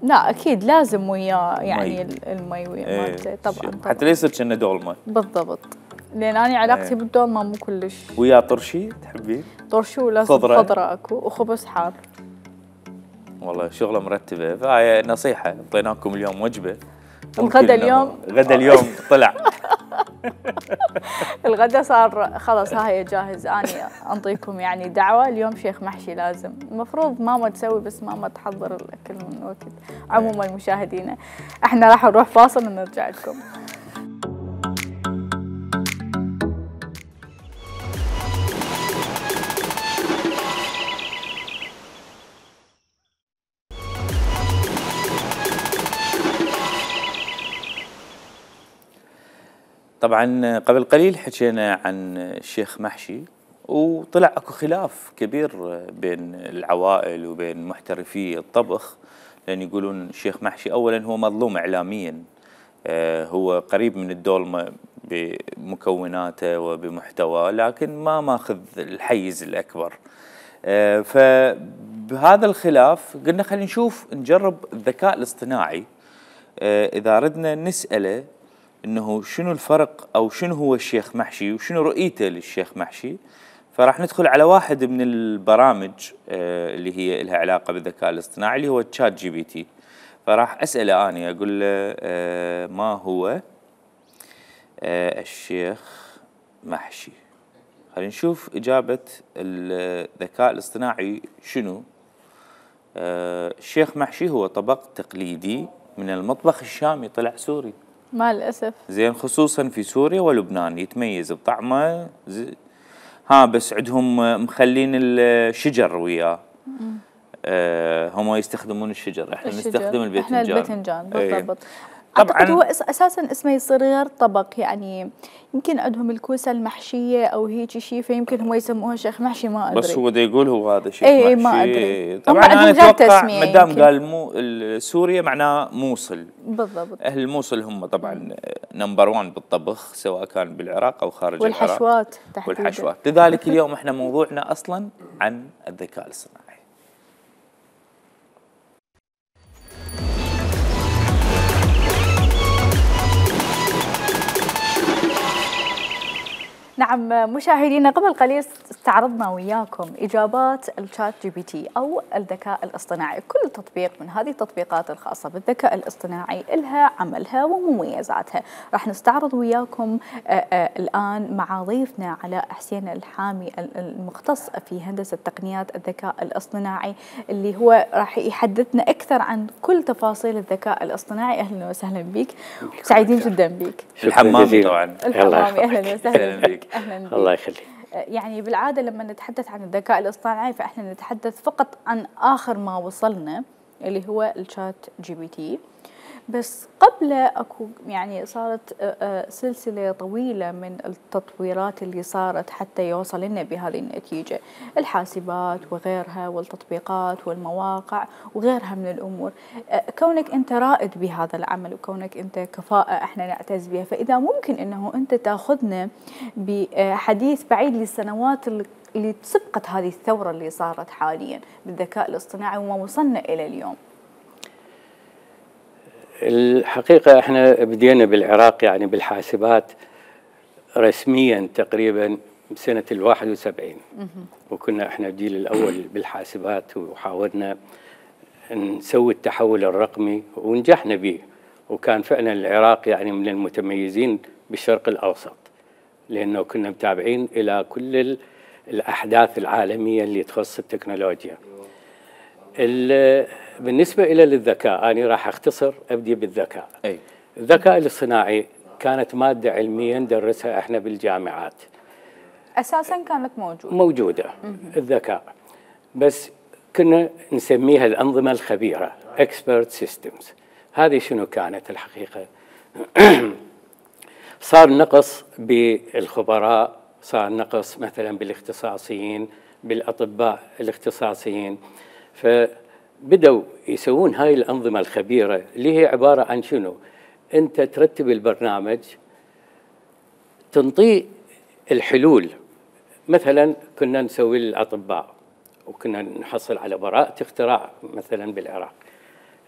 لا اكيد لازم وياه يعني المي وياه مالته طبعا حتى لا يصير كأنه دولمه. بالضبط، لان انا علاقتي بالدولمه مو كلش. ويا طرشي تحبين؟ طرشي ولازم خضره اكو وخبز حار. والله شغله مرتبه. فهاي نصيحه اعطيناكم اليوم وجبه. الغدا اليوم طلع الغدا صار خلاص هاي جاهز. اني انطيكم يعني دعوه اليوم شيخ محشي لازم. المفروض ماما تسوي بس ماما تحضر الاكل من وقت. عموما مشاهدينا احنا راح نروح فاصل ونرجع لكم. طبعا قبل قليل حكينا عن الشيخ محشي، وطلع اكو خلاف كبير بين العوائل وبين محترفي الطبخ، لان يقولون الشيخ محشي اولا هو مظلوم اعلاميا، هو قريب من الدولمه بمكوناته وبمحتواه، لكن ما ماخذ الحيز الاكبر. فبهذا الخلاف قلنا خلينا نجرب الذكاء الاصطناعي اذا ردنا نساله انه شنو الفرق او شنو هو الشيخ محشي وشنو رؤيته للشيخ محشي. فراح ندخل على واحد من البرامج اللي هي لها علاقه بالذكاء الاصطناعي اللي هو تشات جي بي تي. فراح اساله اني اقول له ما هو الشيخ محشي. خلينا نشوف اجابه الذكاء الاصطناعي شنو. الشيخ محشي هو طبق تقليدي من المطبخ الشامي، طلع سوري مع الأسف. زين، خصوصا في سوريا ولبنان، يتميز بطعمه بس عندهم مخلين الشجر وياه. هم يستخدمون الشجر، احنا نستخدم الباذنجان. احنا الباذنجان بالضبط. طبعا هو اساسا اسمه يصير غير طبق، يعني يمكن عندهم الكوسه المحشيه او هيك شيء، فيمكن هم يسموها شيخ محشي، ما ادري. بس هو دا يقول هو هذا شيخ محشي. اي ما ادري. طبعا انا اتوقع ما دام قال سوريا معناه موصل. بالضبط. اهل الموصل هم طبعا نمبر 1 بالطبخ، سواء كان بالعراق او خارج العراق. والحشوات تحديدا. والحشوات، لذلك اليوم احنا موضوعنا اصلا عن الذكاء الاصطناعي. نعم مشاهدينا، قبل قليل استعرضنا وياكم إجابات الشات جي بي تي أو الذكاء الاصطناعي. كل تطبيق من هذه التطبيقات الخاصة بالذكاء الاصطناعي لها عملها ومميزاتها. راح نستعرض وياكم الآن مع ضيفنا علاء حسين الحامي المختص في هندسة تقنيات الذكاء الاصطناعي، اللي هو راح يحدثنا أكثر عن كل تفاصيل الذكاء الاصطناعي. أهلا وسهلا بك، سعيدين جدا بك. الحمامي طبعا. الحمامي، أهلا وسهلا بك. أهلا بك. الله يخليك. يعني بالعادة لما نتحدث عن الذكاء الاصطناعي فإحنا نتحدث فقط عن آخر ما وصلنا اللي هو الشات جي بي تي، بس قبل أكو يعني صارت سلسلة طويلة من التطويرات اللي صارت حتى يوصل لنا بهذه النتيجة، الحاسبات وغيرها والتطبيقات والمواقع وغيرها من الأمور. كونك أنت رائد بهذا العمل وكونك أنت كفاءة احنا نعتز بها، فإذا ممكن أنه أنت تأخذنا بحديث بعيد للسنوات اللي سبقت هذه الثورة اللي صارت حاليا بالذكاء الاصطناعي وما وصلنا إلى اليوم. الحقيقة احنا بدينا بالعراق يعني بالحاسبات رسميا تقريبا بسنة 71، وكنا احنا الجيل الأول بالحاسبات وحاولنا نسوي التحول الرقمي ونجحنا به، وكان فعلا العراق يعني من المتميزين بالشرق الأوسط، لأنه كنا متابعين إلى كل الأحداث العالمية اللي تخص التكنولوجيا. بالنسبة إلى الذكاء أنا راح أختصر أبدي بالذكاء. الذكاء الاصطناعي كانت مادة علمية ندرسها إحنا بالجامعات. أساساً كانت موجودة الذكاء، بس كنا نسميها الأنظمة الخبيرة expert systems. هذه شنو كانت الحقيقة؟ صار نقص بالخبراء، صار نقص مثلا بالاختصاصيين، بالأطباء الاختصاصيين، فبدأوا يسوون هاي الأنظمة الخبيرة اللي هي عبارة عن شنو؟ أنت ترتب البرنامج، تنطيه الحلول. مثلا كنا نسوي للأطباء وكنا نحصل على براءة اختراع مثلا بالعراق.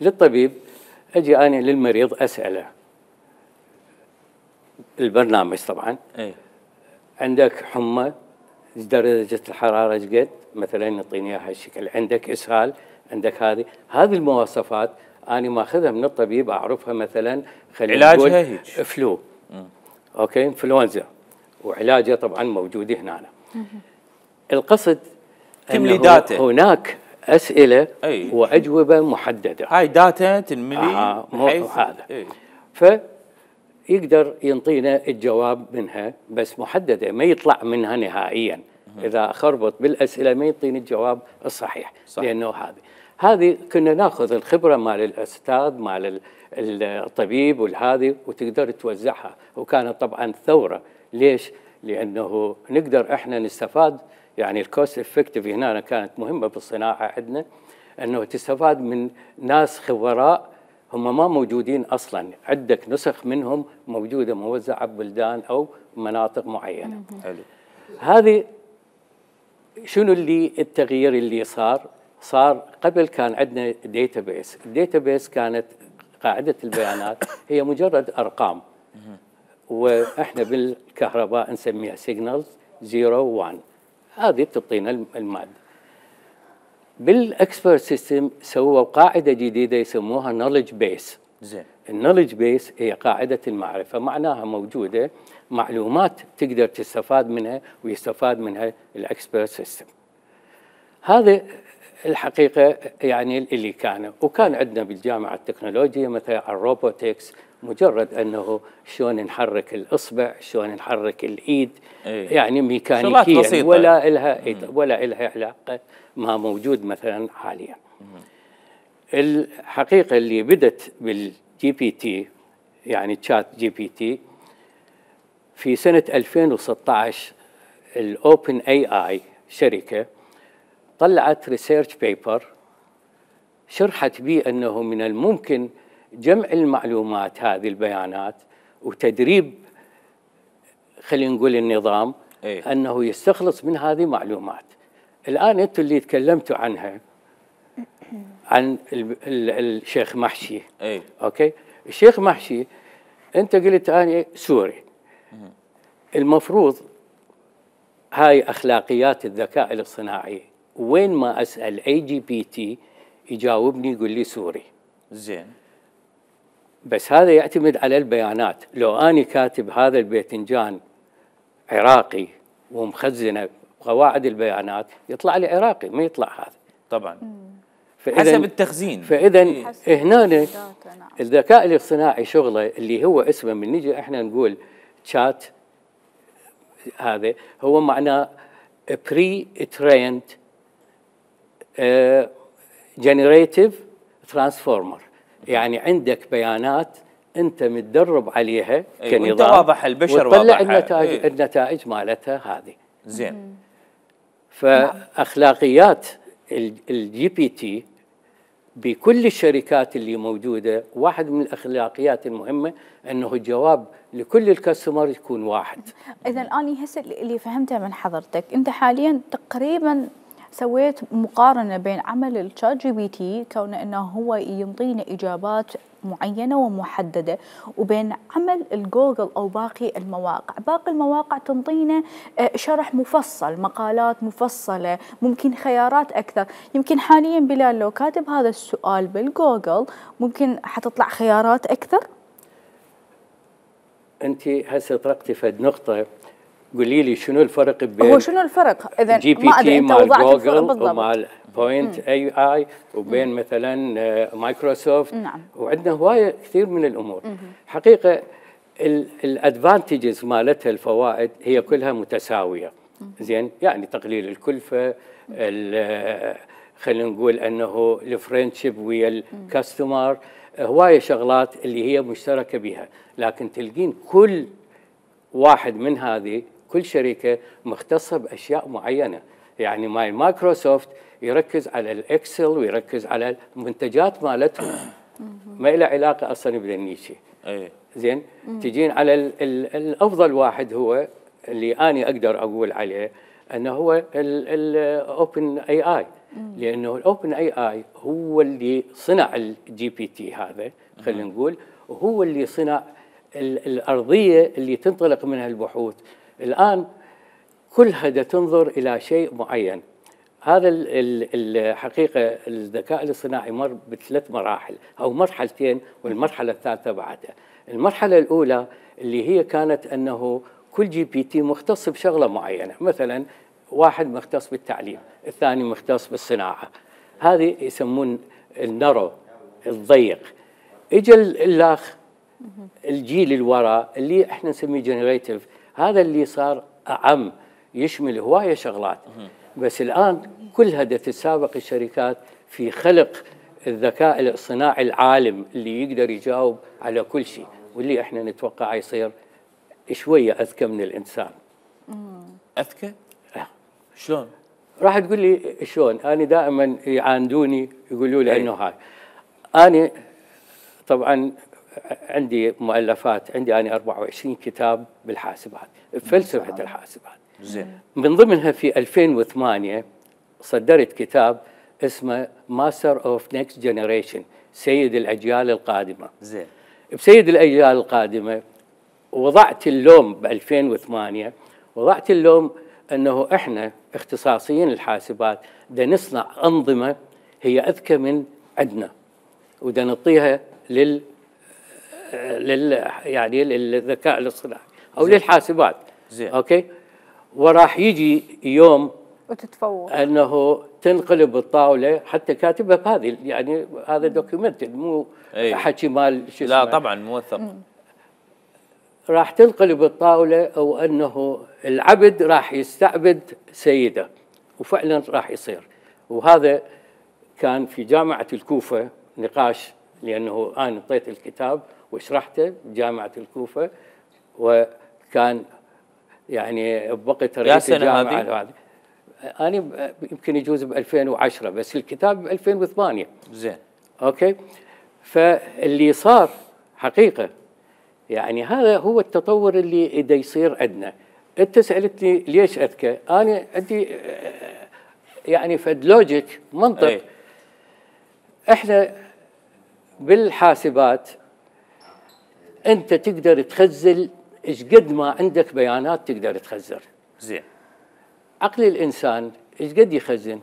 للطبيب أجي أنا للمريض أسأله البرنامج طبعا عندك حمى، درجة الحرارة ايش قد؟ مثلا يعطيني اياها هالشكل. عندك اسهال، عندك هذه المواصفات انا ماخذها من الطبيب، اعرفها مثلا خلينا نقول علاجها هيك فلو، اوكي، انفلونزا، وعلاجها طبعا موجود هنا. القصد تملي داتا، هناك اسئله واجوبه محدده، هاي داتا تنملي بحيث هذا فيقدر ينطينا الجواب منها، بس محدده ما يطلع منها نهائيا. إذا خربط بالأسئلة ما يعطيني الجواب الصحيح، لأنه هذه كنا ناخذ الخبرة مال الأستاذ مال الطبيب والهذه وتقدر توزعها. وكانت طبعا ثورة. ليش؟ لأنه نقدر إحنا نستفاد، يعني الكوست افكتيف هنا كانت مهمة بالصناعة عندنا، أنه تستفاد من ناس خبراء هم ما موجودين أصلا، عندك نسخ منهم موجودة موزعة ببلدان أو مناطق معينة. هذه شنو اللي التغيير اللي صار قبل كان عندنا ديتابيس. الديتابيس كانت قاعدة البيانات هي مجرد أرقام، وإحنا بالكهرباء نسميها سيجنالز 0 1. هذه تعطينا المادة. بالإكسبرت سيستم سووا قاعدة جديدة يسموها نوليدج بيس. النوليدج بيس هي قاعدة المعرفة، معناها موجودة معلومات تقدر تستفاد منها ويستفاد منها الإكسبرت سيستم. هذا الحقيقة يعني اللي كان. وكان عندنا بالجامعة التكنولوجيا مثلا الروبوتكس، مجرد أنه شلون نحرك الإصبع، شلون نحرك الإيد، يعني ميكانيكيا، ولا إلها علاقة ما موجود مثلا حاليا. الحقيقة اللي بدت بالجي بي تي، يعني تشات جي بي تي، في سنة 2016 الأوبن اي اي شركة طلعت ريسيرش بيبر شرحت به أنه من الممكن جمع المعلومات هذه البيانات وتدريب خلينا نقول النظام أنه يستخلص من هذه المعلومات. الآن أنتم اللي تكلمتوا عنها عن الشيخ محشي، أوكي، الشيخ محشي أنت قلت أنا سوري، المفروض هاي اخلاقيات الذكاء الاصطناعي، وين ما اسال اي جي بي تي يجاوبني يقول لي سوري. زين. بس هذا يعتمد على البيانات. لو اني كاتب هذا الباذنجان عراقي ومخزنه قواعد البيانات يطلع لي عراقي، ما يطلع هذا. طبعا. حسب التخزين. فاذا هنا الذكاء الاصطناعي شغله اللي هو اسمه، من نجي احنا نقول شات، هذا هو معناه بري تريند جنريتيف ترانسفورمر، يعني عندك بيانات انت متدرب عليها كنظام، وانت واضح البشر وتطلع واضح النتائج مالتها هذه. زين. فاخلاقيات الجي بي تي بكل الشركات اللي موجوده، واحد من الاخلاقيات المهمه انه الجواب لكل الكاستمر يكون واحد. اذا اني هسه اللي فهمته من حضرتك، انت حاليا تقريبا سويت مقارنه بين عمل الشات جي بي تي كونه انه هو ينطينا اجابات معينه ومحدده، وبين عمل الجوجل او باقي المواقع. باقي المواقع تنطينا شرح مفصل، مقالات مفصله، ممكن خيارات اكثر. يمكن حاليا بلال لو كاتب هذا السؤال بالجوجل ممكن حتطلع خيارات اكثر. انت هسه طرقتي فد نقطه، قولي لي شنو الفرق بين هو شنو الفرق اذا جي بي تي مال جوجل ومال بوينت اي اي وبين مثلا مايكروسوفت؟ نعم. وعندنا هوايه كثير من الامور. حقيقه الادفانتجز مالتها، الفوائد هي كلها متساويه. زين، يعني تقليل الكلفه، خلينا نقول انه الفريندشيب ويا الكاستمر، هوايه شغلات اللي هي مشتركه بها، لكن تلقين كل واحد من هذه، كل شركه مختصه باشياء معينه. يعني مايكروسوفت يركز على الاكسل ويركز على المنتجات مالتهم، ما له علاقه اصلا بالنيشي. زين، تجين على الافضل واحد هو اللي اني اقدر اقول عليه انه هو الاوبن اي اي، لانه الاوبن اي اي هو اللي صنع الجي بي تي هذا، خلينا نقول، وهو اللي صنع الارضيه اللي تنطلق منها البحوث. الان كلها تنظر الى شيء معين. هذا الحقيقه الذكاء الاصطناعي مر بثلاث مراحل او مرحلتين، والمرحله الثالثه بعدها. المرحله الاولى اللي هي كانت انه كل جي بي تي مختص بشغله معينه، مثلا واحد مختص بالتعليم، الثاني مختص بالصناعه، هذه يسمون النرو الضيق. اجى الاخ الجيل الوراء اللي احنا نسميه جنريتيف، هذا اللي صار اعم، يشمل هوايه شغلات. بس الان كلها تتسابق الشركات في خلق الذكاء الاصطناعي العالم اللي يقدر يجاوب على كل شيء، واللي احنا نتوقع يصير شويه اذكى من الانسان. اذكى؟ شلون؟ راح تقول لي شلون؟ انا دائما يعاندوني يقولوا لي انه هاي، انا طبعا عندي مؤلفات، عندي انا 24 كتاب بالحاسبات، بفلسفه الحاسبات. زين. من ضمنها في 2008 صدرت كتاب اسمه ماستر اوف نيكست جنريشن، سيد الاجيال القادمه. زين. بسيد الاجيال القادمه وضعت اللوم ب 2008، وضعت اللوم انه احنا اختصاصيين الحاسبات دا نصنع انظمه هي اذكى من عندنا، ودا نعطيها يعني للذكاء الاصطناعي او للحاسبات. زين. اوكي، وراح يجي يوم وتتفوق انه تنقلب الطاوله، حتى كاتبها بهذه، يعني هذا دوكيومنتد مو حكي مال شو اسمه. لا طبعا موثق. راح تنقلب الطاوله، او انه العبد راح يستعبد سيده، وفعلا راح يصير. وهذا كان في جامعه الكوفه نقاش، لانه انا اعطيت الكتاب وشرحته بجامعه الكوفه، وكان يعني بوقت رئيس الجامعه هذه انا يمكن يجوز ب 2010، بس الكتاب ب 2008. زين. اوكي، فاللي صار حقيقه يعني هذا هو التطور اللي دا يصير عندنا. انت سالتني ليش اذكى؟ انا عندي يعني فد لوجيك، منطق. احنا بالحاسبات انت تقدر تخزن ايش قد ما عندك بيانات تقدر تخزن. زين. عقل الانسان ايش قد يخزن؟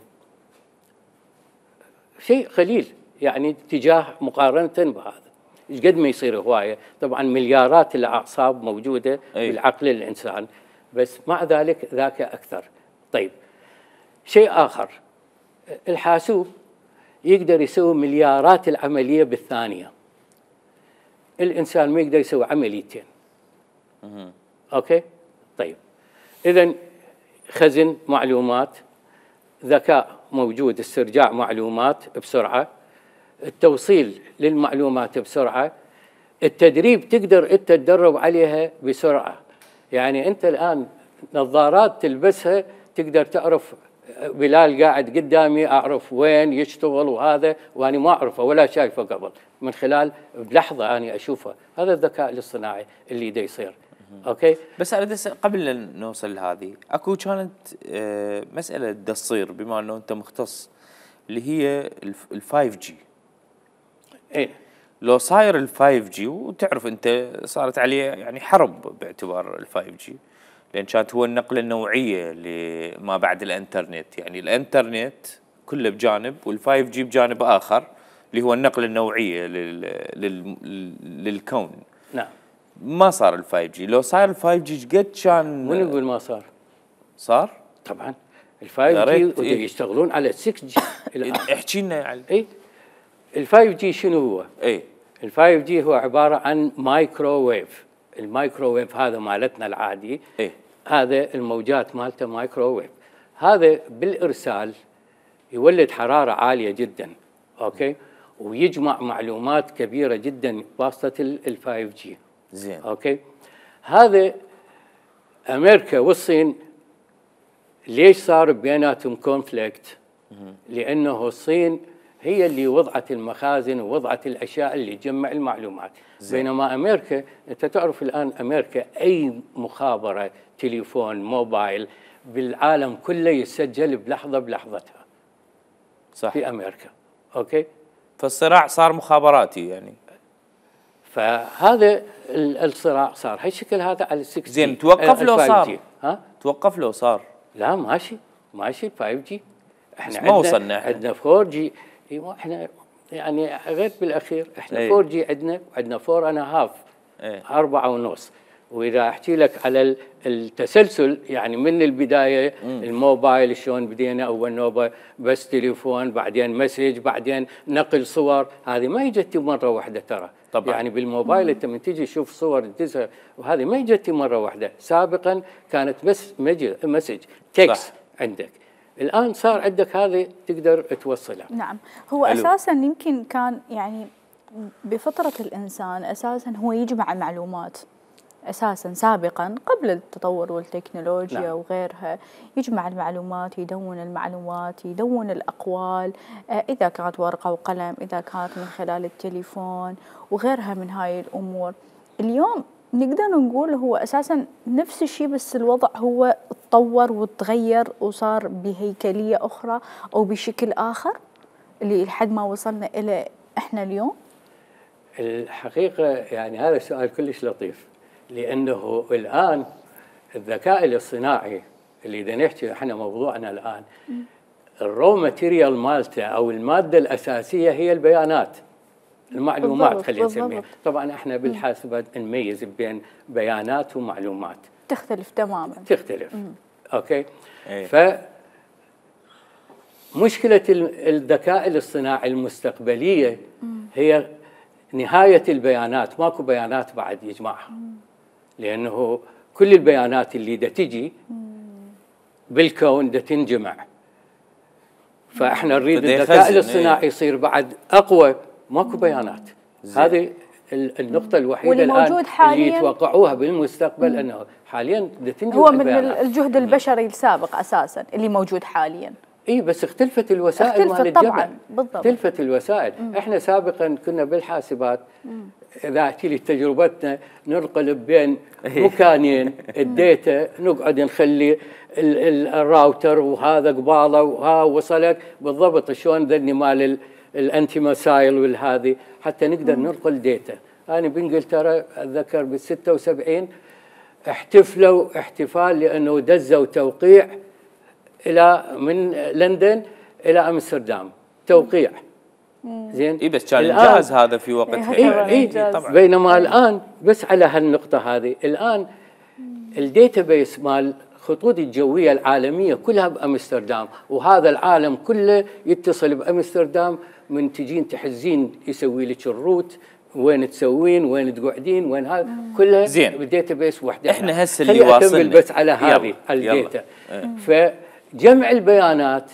شيء قليل يعني تجاه مقارنه بهذا. ايش قد ما يصير هوايه، طبعا مليارات الاعصاب موجوده بالعقل الانسان، بس مع ذلك ذاك اكثر. طيب شيء اخر، الحاسوب يقدر يسوي مليارات العمليه بالثانيه. الانسان ما يقدر يسوي عمليتين. اوكي؟ طيب اذا خزن معلومات، ذكاء موجود، استرجاع معلومات بسرعه، التوصيل للمعلومات بسرعه، التدريب تقدر انت تدرب عليها بسرعه. يعني انت الان نظارات تلبسها تقدر تعرف بلال قاعد قدامي اعرف وين يشتغل وهذا، وانا ما اعرفه ولا شايفه قبل، من خلال بلحظه اني اشوفه. هذا الذكاء الاصطناعي اللي دا يصير. اوكي، بس انا قبل لا نوصل لهذه اكو كانت مساله دا تصير بما انه انت مختص اللي هي ال5 جي. ايه لو صاير ال5 جي، وتعرف انت صارت عليه يعني حرب باعتبار ال5 جي، لان كانت هو النقله النوعيه لما بعد الانترنت. يعني الانترنت كله بجانب وال5 جي بجانب اخر اللي هو النقله النوعيه للكون. نعم. ما صار ال5 جي، لو صار ال5 جي قد كان. من يقول ما صار؟ صار؟ طبعا ال5 جي يشتغلون على 6 جي الان. احكي لنا يعني. اي ال5 جي شنو هو؟ ال5 جي هو عباره عن مايكروويف. المايكروويف هذا مالتنا العادي، هذا الموجات مالته مايكروويف. هذا بالارسال يولد حراره عاليه جدا، اوكي، ويجمع معلومات كبيره جدا بواسطه ال5 جي. زين. اوكي، هذا امريكا والصين ليش صار بيناتهم كونفليكت؟ لانه الصين هي اللي وضعت المخازن ووضعت الاشياء اللي تجمع المعلومات. بينما امريكا، انت تعرف الان امريكا اي مخابره تليفون موبايل بالعالم كله يسجل بلحظه بلحظتها. صح. في امريكا. اوكي، فالصراع صار مخابراتي يعني. فهذا الصراع صار هالشكل هذا على 6 جي. زين، توقف لو صار؟ ها؟ توقف لو صار؟ لا ماشي ماشي ال5 جي. احنا ما وصلنا، عندنا 4 جي. احنا يعني غير بالاخير احنا 4 جي عندنا 4 اند هاف، 4.5. واذا احكي لك على التسلسل يعني من البدايه، الموبايل شلون بدينا اول نوبه بس تليفون، بعدين مسج، بعدين نقل صور. هذه ما اجت مره واحده ترى. طبعا. يعني بالموبايل انت من تجي تشوف صور تدزها، وهذه ما اجت مره واحده. سابقا كانت بس مسج تكست عندك، الآن صار عندك هذه تقدر توصلها. نعم، هو أساساً يمكن كان يعني بفطرة الإنسان أساساً هو يجمع معلومات أساساً سابقاً قبل التطور والتكنولوجيا. نعم. وغيرها، يجمع المعلومات، يدون المعلومات، يدون الأقوال، إذا كانت ورقة وقلم، إذا كانت من خلال التليفون وغيرها من هاي الأمور. اليوم نقدر نقول هو أساساً نفس الشيء، بس الوضع هو تطور وتغير وصار بهيكلية أخرى أو بشكل آخر اللي لحد ما وصلنا إلى إحنا اليوم. الحقيقة يعني هذا السؤال كلش لطيف، لأنه الآن الذكاء الاصطناعي اللي إذا نحكي إحنا موضوعنا الآن، الرو ماتيريال مالته أو المادة الأساسية هي البيانات، المعلومات خلينا نسميها. طبعا احنا بالحاسبات نميز بين بيانات ومعلومات، تختلف تماما. تختلف. اوكي. فمشكلة الذكاء الاصطناعي المستقبلية هي نهاية البيانات، ماكو بيانات بعد يجمعها. لأنه كل البيانات اللي دا تجي بالكون دا تنجمع. فاحنا نريد الذكاء الاصطناعي يصير بعد أقوى، ماكو بيانات. هذه النقطة الوحيدة الآن اللي يتوقعوها بالمستقبل، أنه حاليا تنجم هو من الجهد البشري السابق أساسا اللي موجود حاليا. اي بس اختلفت الوسائل مال الجمع. طبعا بالضبط. اختلفت الوسائل. احنا سابقا كنا بالحاسبات اذا احكي لي تجربتنا ننقلب بين مكانين الداتا، نقعد نخلي الراوتر وهذا قباله وها وصلك بالضبط شلون ذني مال الانتي مسايل والهذه حتى نقدر ننقل داتا. انا بانجلترا اتذكر بال76 احتفلوا احتفال لانه دزوا توقيع من لندن الى امستردام توقيع. زين اي بس كان انجاز هذا في وقتها. اي طبعا. بينما الان بس على هالنقطه هذه، الان الديتا بيس مال الخطوط الجويه العالميه كلها بامستردام، وهذا العالم كله يتصل بامستردام، من تجين تحزين يسوي لك الروت، وين تسوين، وين تقعدين، وين هذا كلها زين بالديتا بيس وحده. احنا هسه اللي واصلنا بس على هذه الديتا. فجمع البيانات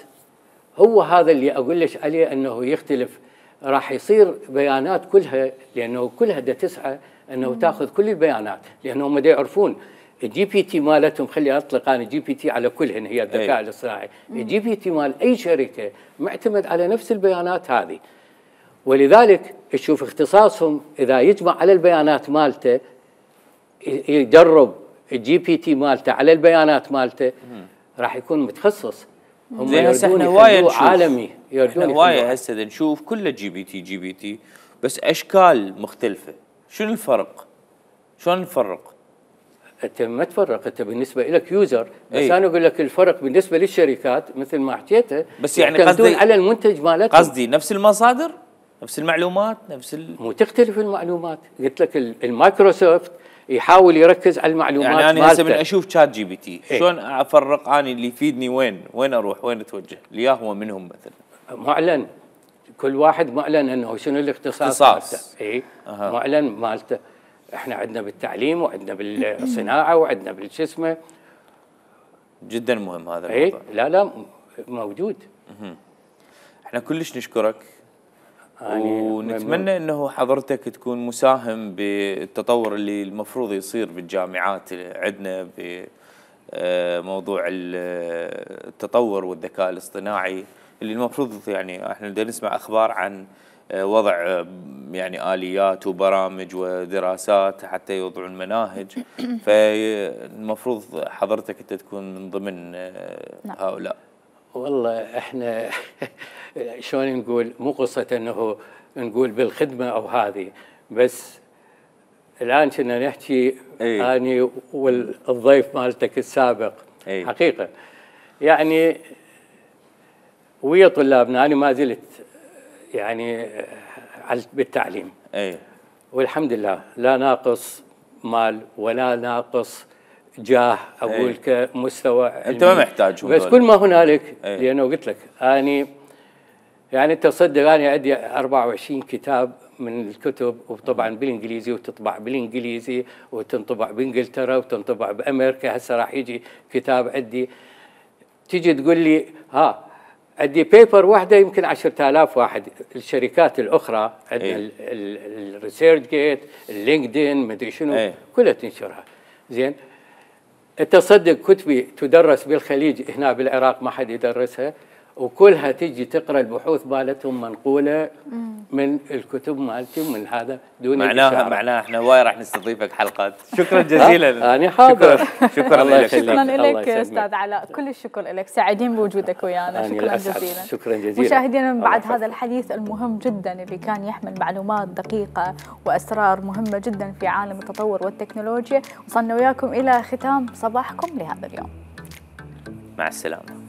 هو هذا اللي اقول لك عليه انه يختلف، راح يصير بيانات كلها، لانه كلها تسعى انه تاخذ كل البيانات، لانه هم يعرفون الجي بي تي مالتهم. خلي اطلق انا جي بي تي على كلهن، هي الذكاء الاصطناعي. الجي بي تي مال اي شركه معتمد على نفس البيانات هذه، ولذلك تشوف اختصاصهم اذا يجمع على البيانات مالته، يدرب الجي بي تي مالته على البيانات مالته، راح يكون متخصص. هم يردون يخلوه عالمي، يردون هوايه هسه نشوف كله جي بي تي بس اشكال مختلفه. شنو الفرق؟ شلون نفرق؟ انت ما تفرق، انت بالنسبه لك يوزر، بس انا اقول لك الفرق بالنسبه للشركات مثل ما حكيته، بس يعني قصدي على المنتج مالتهم. قصدي نفس المصادر، نفس المعلومات، مو تختلف المعلومات. قلت لك المايكروسوفت يحاول يركز على المعلومات. يعني انا هسه من اشوف شات جي بي تي شلون افرق اني اللي يفيدني وين اروح، وين اتوجه؟ اللي هو منهم مثلا معلن، كل واحد معلن انه شنو الاختصاص مالته. اي معلن مالته. احنا عندنا بالتعليم، وعندنا بالصناعه، وعندنا بالشو اسمه. جدا مهم هذا الموضوع. لا موجود. احنا كلش نشكرك، ونتمنى انه حضرتك تكون مساهم بالتطور اللي المفروض يصير بالجامعات عندنا بموضوع التطور والذكاء الاصطناعي، اللي المفروض يعني احنا بدنا نسمع اخبار عن وضع يعني آليات وبرامج ودراسات حتى يوضعون مناهج. فالمفروض حضرتك انت تكون من ضمن هؤلاء. والله احنا شلون نقول، مو قصة انه نقول بالخدمة او هذه، بس الان كنا نحكي اني والضيف مالتك السابق حقيقة يعني ويا طلابنا. انا ما زلت يعني بالتعليم، والحمد لله لا ناقص مال ولا ناقص جاه اقول كمستوى علمي. انت ما محتاجهم بس كل ما هنالك، لانه قلت لك اني يعني تصدق اني عندي 24 كتاب من الكتب، وطبعا بالانجليزي، وتطبع بالانجليزي، وتنطبع بانجلترا، وتنطبع بامريكا. هسه راح يجي كتاب عندي، تيجي تقول لي عندي بيبر واحده يمكن 10,000 واحد. الشركات الاخرى عندنا الريسيرش جيت، اللينكدين، مدري شنو، كلها تنشرها. زين، انت صدق كتبي تدرس بالخليج، هنا بالعراق ما حد يدرسها، وكلها تجي تقرا البحوث مالتهم منقوله من الكتب مالتي ومن هذا دون معناها احنا هواي راح نستضيفك حلقات. شكرا جزيلا. انا حاضر. شكرا لك. شكرا لك استاذ علاء، كل الشكر لك، سعيدين بوجودك ويانا. شكرا جزيلا. شكرا جزيلا. مشاهدينا، من بعد هذا الحديث المهم جدا اللي كان يحمل معلومات دقيقه واسرار مهمه جدا في عالم التطور والتكنولوجيا، وصلنا وياكم الى ختام صباحكم لهذا اليوم. مع السلامه.